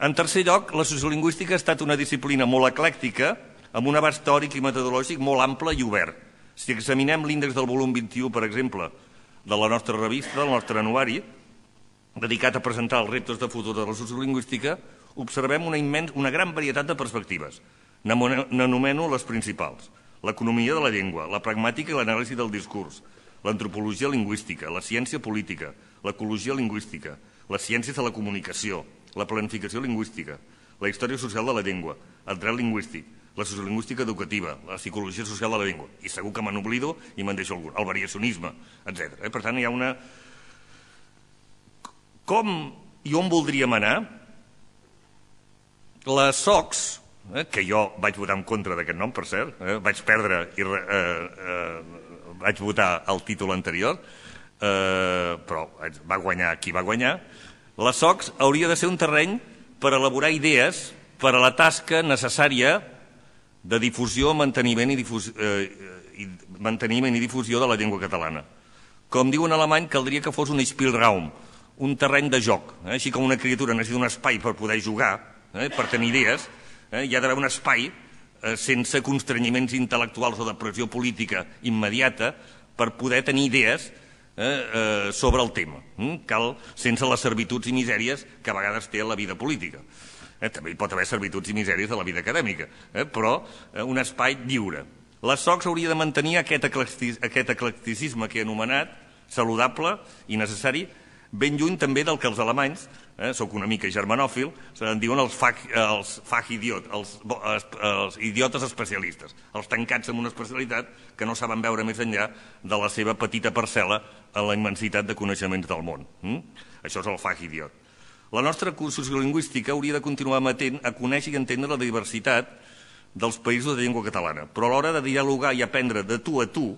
En tercer lloc, la sociolingüística ha estat una disciplina molt eclèctica, amb un abast teòric i metodològic molt ample i obert. Si examinem l'índex del volum vint-i-u, per exemple, de la nostra revista, del nostre anuari, dedicat a presentar els reptes de futur de la sociolingüística, observem una, immens, una gran varietat de perspectives. N'anomeno les principals. L'economia de la llengua, la pragmàtica i l'anàlisi del discurs, l'antropologia lingüística, la ciència política, l'ecologia lingüística, les ciències de la comunicació, la planificació lingüística, la història social de la llengua, el dret lingüístic, la sociolingüística educativa, la psicologia social de la llengua, i segur que me n'oblido i me'n deixo algun, el variacionisme, etcètera. Per tant, hi ha una... Com i on voldríem anar? La SOCS, eh, que jo vaig votar en contra d'aquest nom, per cert, eh, vaig perdre i eh, eh, vaig votar el títol anterior, eh, però va guanyar qui va guanyar. La SOCS hauria de ser un terreny per elaborar idees per a la tasca necessària de difusió, manteniment i, difus, eh, i, manteniment i difusió de la llengua catalana. Com diu en alemany, caldria que fos un Spielraum, un terreny de joc. Eh? Així com una criatura necessita un espai per poder jugar, eh? per tenir idees, eh? hi ha d'haver un espai eh, sense constrenyiments intel·lectuals o de pressió política immediata per poder tenir idees eh, eh, sobre el tema. Eh? Cal, sense les servituds i misèries que a vegades té la vida política. Eh, també hi pot haver servituds i misèries de la vida acadèmica, eh, però eh, un espai lliure. La SOCS hauria de mantenir aquest, eclectic, aquest eclecticisme que he anomenat, saludable i necessari, ben lluny també del que els alemanys, eh, soc una mica germanòfil, se'n diuen els fach, els fach idiot, els, els, els idiotes especialistes, els tancats en una especialitat que no saben veure més enllà de la seva petita parcel·la en la immensitat de coneixements del món. Mm? Això és el fach idiot. La nostra sociolingüística hauria de continuar amatent a conèixer i entendre la diversitat dels països de llengua catalana, però a l'hora de dialogar i aprendre de tu a tu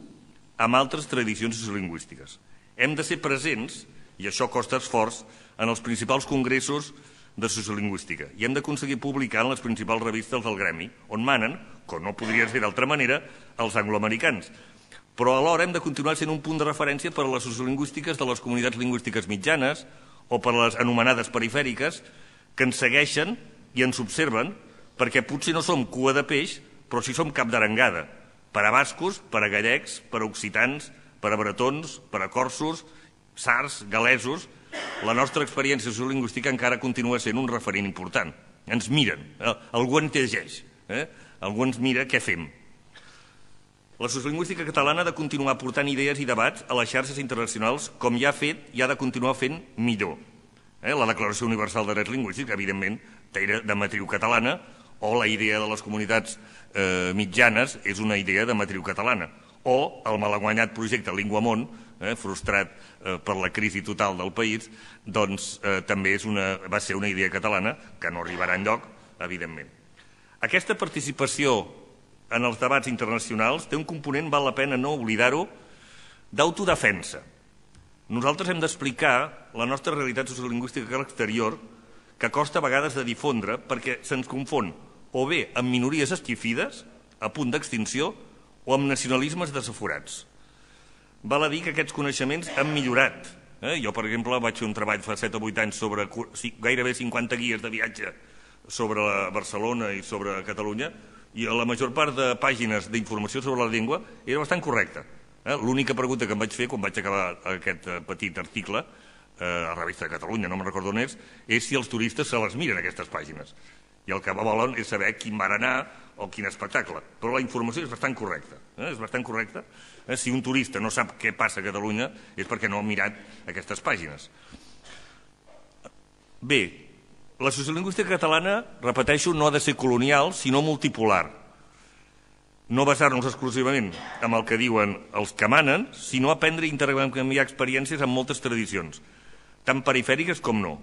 amb altres tradicions sociolingüístiques. Hem de ser presents, i això costa esforç, en els principals congressos de sociolingüística i hem d'aconseguir publicar en les principals revistes del gremi, on manen, com no podria ser d'altra manera, els angloamericans. Però alhora hem de continuar sent un punt de referència per a les sociolingüístiques de les comunitats lingüístiques mitjanes o per les anomenades perifèriques, que ens segueixen i ens observen, perquè potser no som cua de peix, però sí som cap d'arengada, per a bascos, per a gallecs, per a occitans, per a bretons, per a corsos, sards, galesos. La nostra experiència sociolingüística encara continua sent un referent important. Ens miren, eh? algú ens llegeix, eh? algú ens mira què fem. La sociolingüística catalana ha de continuar portant idees i debats a les xarxes internacionals com ja ha fet i ha de continuar fent millor. Eh? La Declaració Universal de Drets Lingüístics, evidentment, era de matriu catalana, o la idea de les comunitats eh, mitjanes és una idea de matriu catalana, o el malaguanyat projecte Linguamont, eh, frustrat eh, per la crisi total del país, doncs eh, també és una, va ser una idea catalana que no arribarà enlloc, evidentment. Aquesta participació en els debats internacionals té un component, val la pena no oblidar-ho, d'autodefensa. Nosaltres hem d'explicar la nostra realitat sociolingüística a l'exterior, que costa a vegades de difondre perquè se'ns confon o bé amb minories esquifides, a punt d'extinció, o amb nacionalismes desaforats. Val a dir que aquests coneixements han millorat. Eh? Jo, per exemple, vaig fer un treball fa set o vuit anys sobre gairebé cinquanta guies de viatge sobre Barcelona i sobre Catalunya, i la major part de pàgines d'informació sobre la llengua era bastant correcta. Eh? L'única pregunta que em vaig fer quan vaig acabar aquest petit article eh, a la revista de Catalunya, no me'n recordo on és, és si els turistes se les miren aquestes pàgines. I el que volen és saber quin va anar o quin espectacle. Però la informació és bastant correcta. Eh? És bastant correcta. Eh? Si un turista no sap què passa a Catalunya és perquè no ha mirat aquestes pàgines. Bé, la sociolingüística catalana, repeteixo, no ha de ser colonial, sinó multipolar. no basar-nos exclusivament en el que diuen els que manen, sinó aprendre i intercanviar experiències amb moltes tradicions, tant perifèriques com no,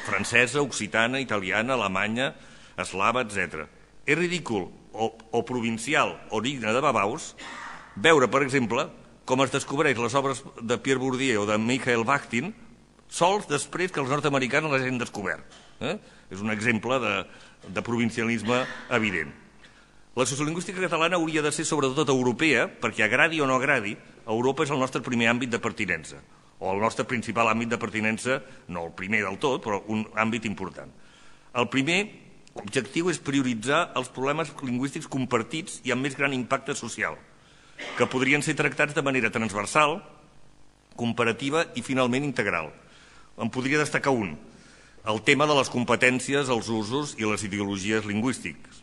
francesa, occitana, italiana, alemanya, eslava, etcètera. És ridícul o, o provincial o digne de babaus veure, per exemple, com es descobreix les obres de Pierre Bourdieu o de Michael Bakhtin sols després que els nord-americans les hagin descobert. Eh? És un exemple de, de provincialisme evident. La sociolingüística catalana hauria de ser sobretot europea, perquè agradi o no agradi, Europa és el nostre primer àmbit de pertinença, o el nostre principal àmbit de pertinença, no el primer del tot, però un àmbit important. El primer objectiu és prioritzar els problemes lingüístics compartits i amb més gran impacte social, que podrien ser tractats de manera transversal, comparativa i finalment integral. En podria destacar un, el tema de les competències, els usos i les ideologies lingüístics.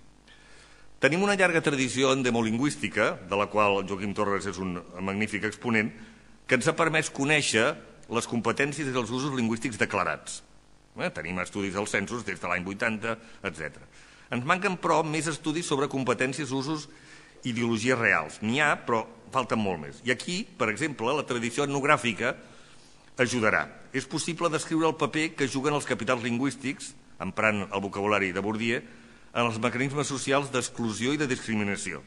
Tenim una llarga tradició endemolingüística, de la qual Joaquim Torres és un magnífic exponent, que ens ha permès conèixer les competències i els usos lingüístics declarats. Eh? Tenim estudis dels censos des de l'any vuitanta, etcètera. Ens manquen, però, més estudis sobre competències, usos i ideologies reals. N'hi ha, però falten molt més. I aquí, per exemple, la tradició etnogràfica ajudarà. És possible descriure el paper que juguen els capitals lingüístics, emprant el vocabulari de Bourdieu, en els mecanismes socials d'exclusió i de discriminació.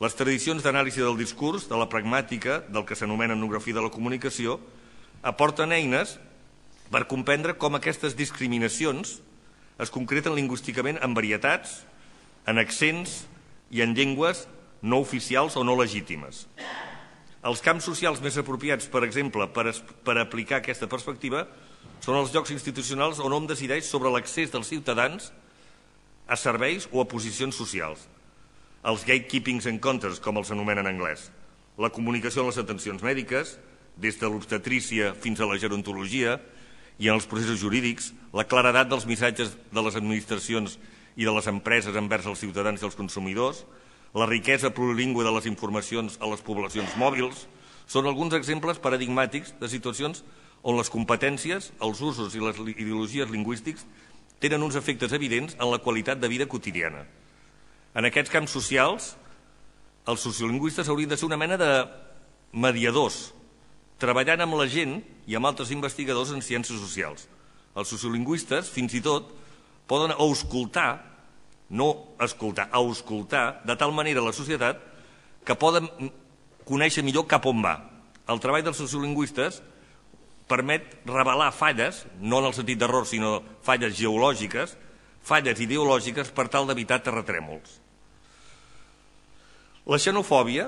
Les tradicions d'anàlisi del discurs, de la pragmàtica, del que s'anomena etnografia de la comunicació, aporten eines per comprendre com aquestes discriminacions es concreten lingüísticament en varietats, en accents i en llengües no oficials o no legítimes. Els camps socials més apropiats, per exemple, per, per aplicar aquesta perspectiva, són els llocs institucionals on hom decideix sobre l'accés dels ciutadans a serveis o a posicions socials. Els gatekeepings encounters, com els anomenen en anglès. La comunicació en les atencions mèdiques, des de l'obstetrícia fins a la gerontologia i en els processos jurídics, la claredat dels missatges de les administracions i de les empreses envers els ciutadans i els consumidors, la riquesa plurilingüe de les informacions a les poblacions mòbils, són alguns exemples paradigmàtics de situacions on les competències, els usos i les ideologies lingüístics tenen uns efectes evidents en la qualitat de vida quotidiana. En aquests camps socials, els sociolingüistes haurien de ser una mena de mediadors, treballant amb la gent i amb altres investigadors en ciències socials. Els sociolingüistes, fins i tot, poden auscultar, no escoltar, auscultar, de tal manera la societat que poden conèixer millor cap on va. El treball dels sociolingüistes permet revelar falles, no en el sentit d'error, sinó falles geològiques, falles ideològiques per tal d'evitar terratrèmols. La xenofòbia,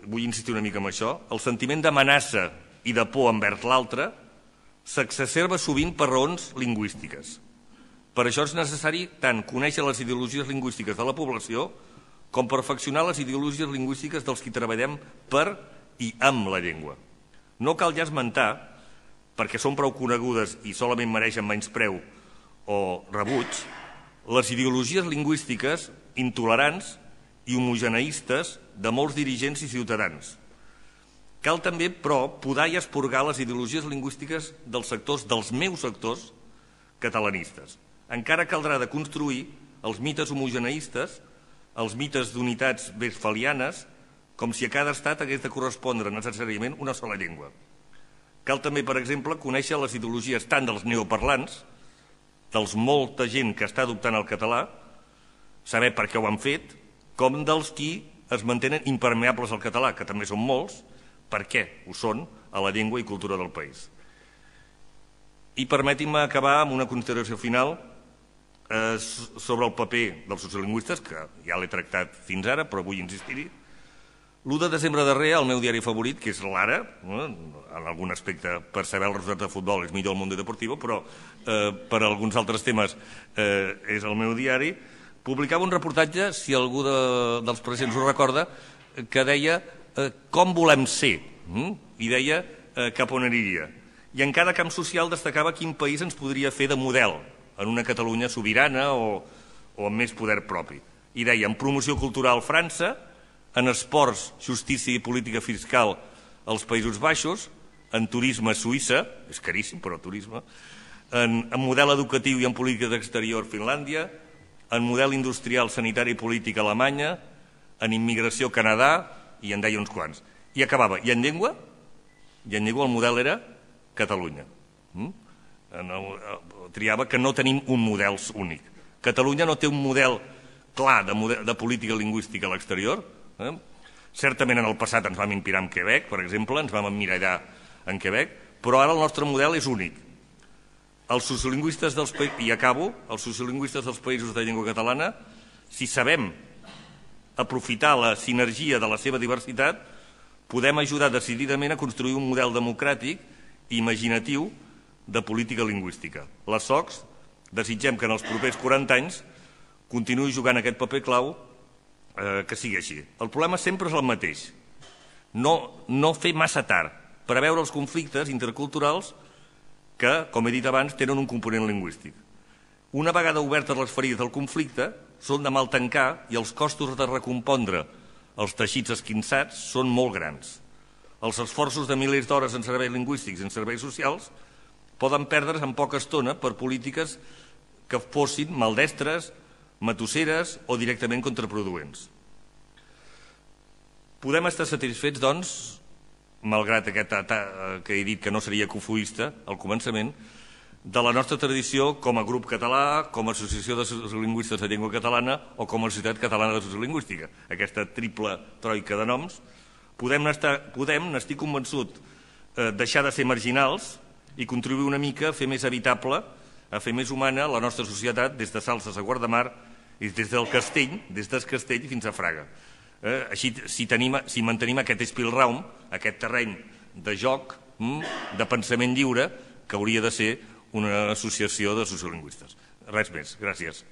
vull insistir una mica en això, el sentiment d'amenaça i de por envers l'altre s'exacerba sovint per raons lingüístiques. Per això és necessari tant conèixer les ideologies lingüístiques de la població com perfeccionar les ideologies lingüístiques dels qui treballem per i amb la llengua. No cal ja esmentar, perquè són prou conegudes i solament mereixen menyspreu o rebuig, les ideologies lingüístiques intolerants i homogeneistes de molts dirigents i ciutadans. Cal també, però, podar i esporgar les ideologies lingüístiques dels sectors, dels meus sectors catalanistes. Encara caldrà de construir els mites homogeneistes, els mites d'unitats westfalianes, com si a cada estat hagués de correspondre necessàriament una sola llengua. Cal també, per exemple, conèixer les ideologies tant dels neoparlants, dels molta gent que està adoptant el català, saber per què ho han fet, com dels qui es mantenen impermeables al català, que també són molts, per què ho són a la llengua i cultura del país. I permetin-me acabar amb una consideració final eh, sobre el paper dels sociolingüistes, que ja l'he tractat fins ara, però vull insistir-hi. l'u de desembre darrer, el meu diari favorit, que és l'Ara, eh, en algun aspecte, per saber el resultat de futbol és millor el Mundo Deportivo, però eh, per alguns altres temes eh, és el meu diari, publicava un reportatge, si algú de, dels presents ho recorda, que deia eh, com volem ser, hm? i deia eh, cap on aniria. I en cada camp social destacava quin país ens podria fer de model en una Catalunya sobirana o, o amb més poder propi. I deia, en promoció cultural França, en esports, justícia i política fiscal als Països Baixos, en turisme Suïssa, és caríssim però turisme, en, en model educatiu i en política d'exterior Finlàndia, en model industrial, sanitari i polític a Alemanya, en immigració a Canadà, i en deia uns quants. I acabava. I en llengua? I en llengua el model era Catalunya. Triava que no tenim un model únic. Catalunya no té un model clar de política lingüística a l'exterior. Certament en el passat ens vam inspirar en Quebec, per exemple, ens vam emmirallar en Quebec, però ara el nostre model és únic. Els sociolingüistes dels països, i acabo, els sociolingüistes dels països de llengua catalana, si sabem aprofitar la sinergia de la seva diversitat, podem ajudar decididament a construir un model democràtic i imaginatiu de política lingüística. Les S O Cs desitgem que en els propers quaranta anys continuï jugant aquest paper clau, que sigui així. El problema sempre és el mateix. No fer massa tard, preveure els conflictes interculturals que, com he dit abans, tenen un component lingüístic. Una vegada obertes les ferides del conflicte, són de mal tancar i els costos de recompondre els teixits esquinçats són molt grans. Els esforços de milers d'hores en serveis lingüístics i en serveis socials poden perdre's en poca estona per polítiques que fossin maldestres, matusseres o directament contraproduents. Podem estar satisfets, doncs, malgrat aquest que he dit que no seria cofoista al començament, de la nostra tradició com a grup català, com a associació de sociolingüistes de llengua catalana o com a Societat Catalana de Sociolingüística. Aquesta triple troica de noms. Podem, n'estic convençut, deixar de ser marginals i contribuir una mica a fer més habitable, a fer més humana la nostra societat des de Salses a Guardamar i des del Castell, des del Castell fins a Fraga. Així, si mantenim aquest espilraum, aquest terreny de joc, de pensament lliure, que hauria de ser una associació de sociolingüistes. Res més. Gràcies.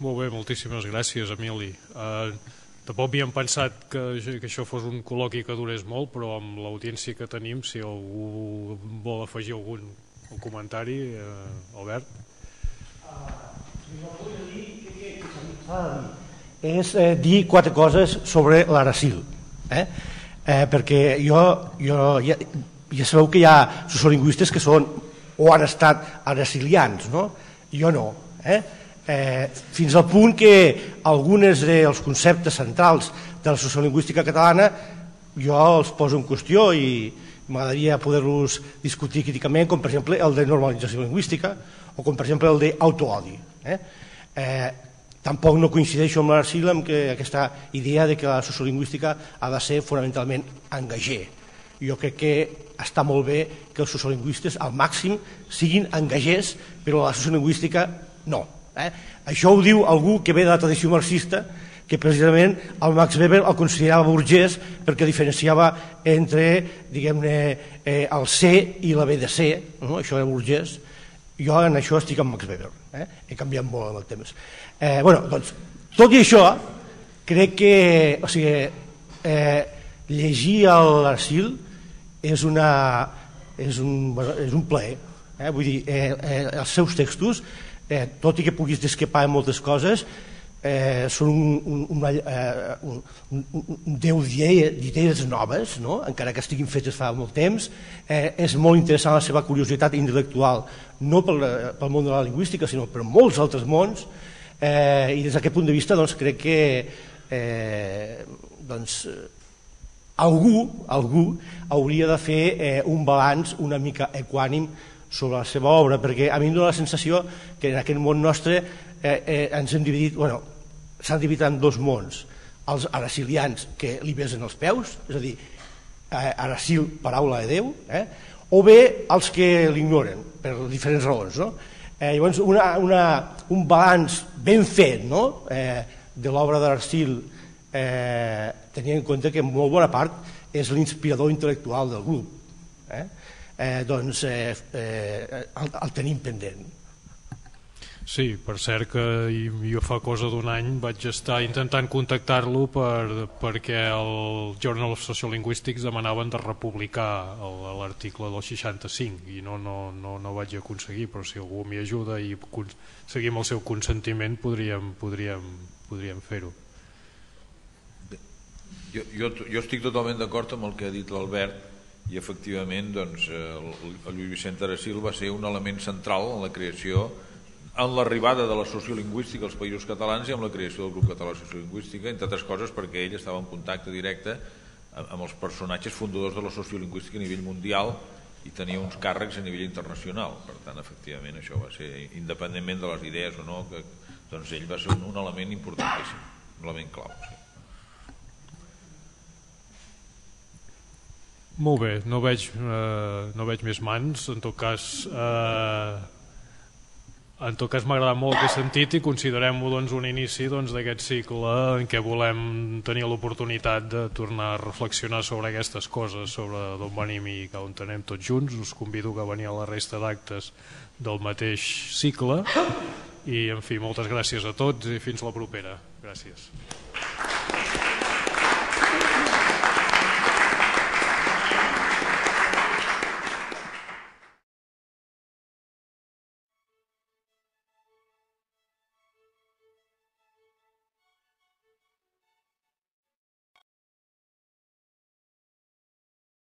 Molt bé, moltíssimes gràcies, Emili. Tampoc havíem pensat que això fos un col·loqui que durés molt, però amb l'audiència que tenim, si algú vol afegir algun comentari, Albert? Jo volia dir que s'ha de dir és dir quatre coses sobre l'Arasil, perquè jo ja sabeu que hi ha sociolingüistes que són o han estat aracilians, jo no, fins al punt que alguns dels conceptes centrals de la sociolingüística catalana jo els poso en qüestió i m'agradaria poder-los discutir críticament, com per exemple el de normalització lingüística o com per exemple el d'autoodi. Tampoc no coincideixo amb l'Arasil amb aquesta idea que la sociolingüística ha de ser fonamentalment engager. Jo crec que està molt bé que els sociolingüistes al màxim siguin engagers, però la sociolingüística no. Això ho diu algú que ve de la tradició marxista, que precisament el Max Weber el considerava burgès perquè diferenciava entre, diguem-ne, el C i la B de C, això era burgès. Jo en això estic amb Max Weber, he canviat molt amb el temps. Doncs, tot i això, crec que llegir l'Arasil és un plaer. Vull dir, els seus textos, tot i que puguis discrepar en moltes coses, són un déu d'idees noves, encara que estiguin fetes fa molt temps. És molt interessant la seva curiositat intel·lectual, no pel món de la lingüística, sinó per molts altres mons, i des d'aquest punt de vista crec que algú hauria de fer un balanç una mica equànim sobre la seva obra, perquè a mi em dóna la sensació que en aquest món nostre ens hem dividit, bueno, s'han dividit en dos mons, els aracilians que li besen els peus, és a dir, Aracil, paraula de Déu, o bé els que l'ignoren per diferents raons. Llavors, un balanç ben fet de l'obra d'Aracil, tenint en compte que en molt bona part és l'inspirador intel·lectual del grup, doncs el tenim pendent. Sí, per cert que jo fa cosa d'un any vaig estar intentant contactar-lo perquè el Journal of Sociolinguistics demanaven de republicar l'article del seixanta-cinc i no vaig aconseguir, però si algú m'hi ajuda i seguim el seu consentiment podríem podríem fer-ho. Jo, jo, jo estic totalment d'acord amb el que ha dit l'Albert i efectivament doncs, el, el Lluís Vicent Arasil va ser un element central en la creació, en l'arribada de la sociolingüística als països catalans i amb la creació del grup català de sociolingüística, entre altres coses perquè ell estava en contacte directe amb els personatges fundadors de la sociolingüística a nivell mundial i tenia uns càrrecs a nivell internacional. Per tant, efectivament, això va ser, independentment de les idees o no, que, doncs ell va ser un, un element importantíssim, un element clau. Sí. Molt bé, no veig, eh, no veig més mans. En tot cas, eh, en tot cas m'ha agradat molt aquest sentit i considerem-ho doncs, un inici doncs, d'aquest cicle en què volem tenir l'oportunitat de tornar a reflexionar sobre aquestes coses, sobre d'on venim i cap on anem tots junts. Us convido a venir a la resta d'actes del mateix cicle i, en fi, moltes gràcies a tots i fins la propera. Gràcies.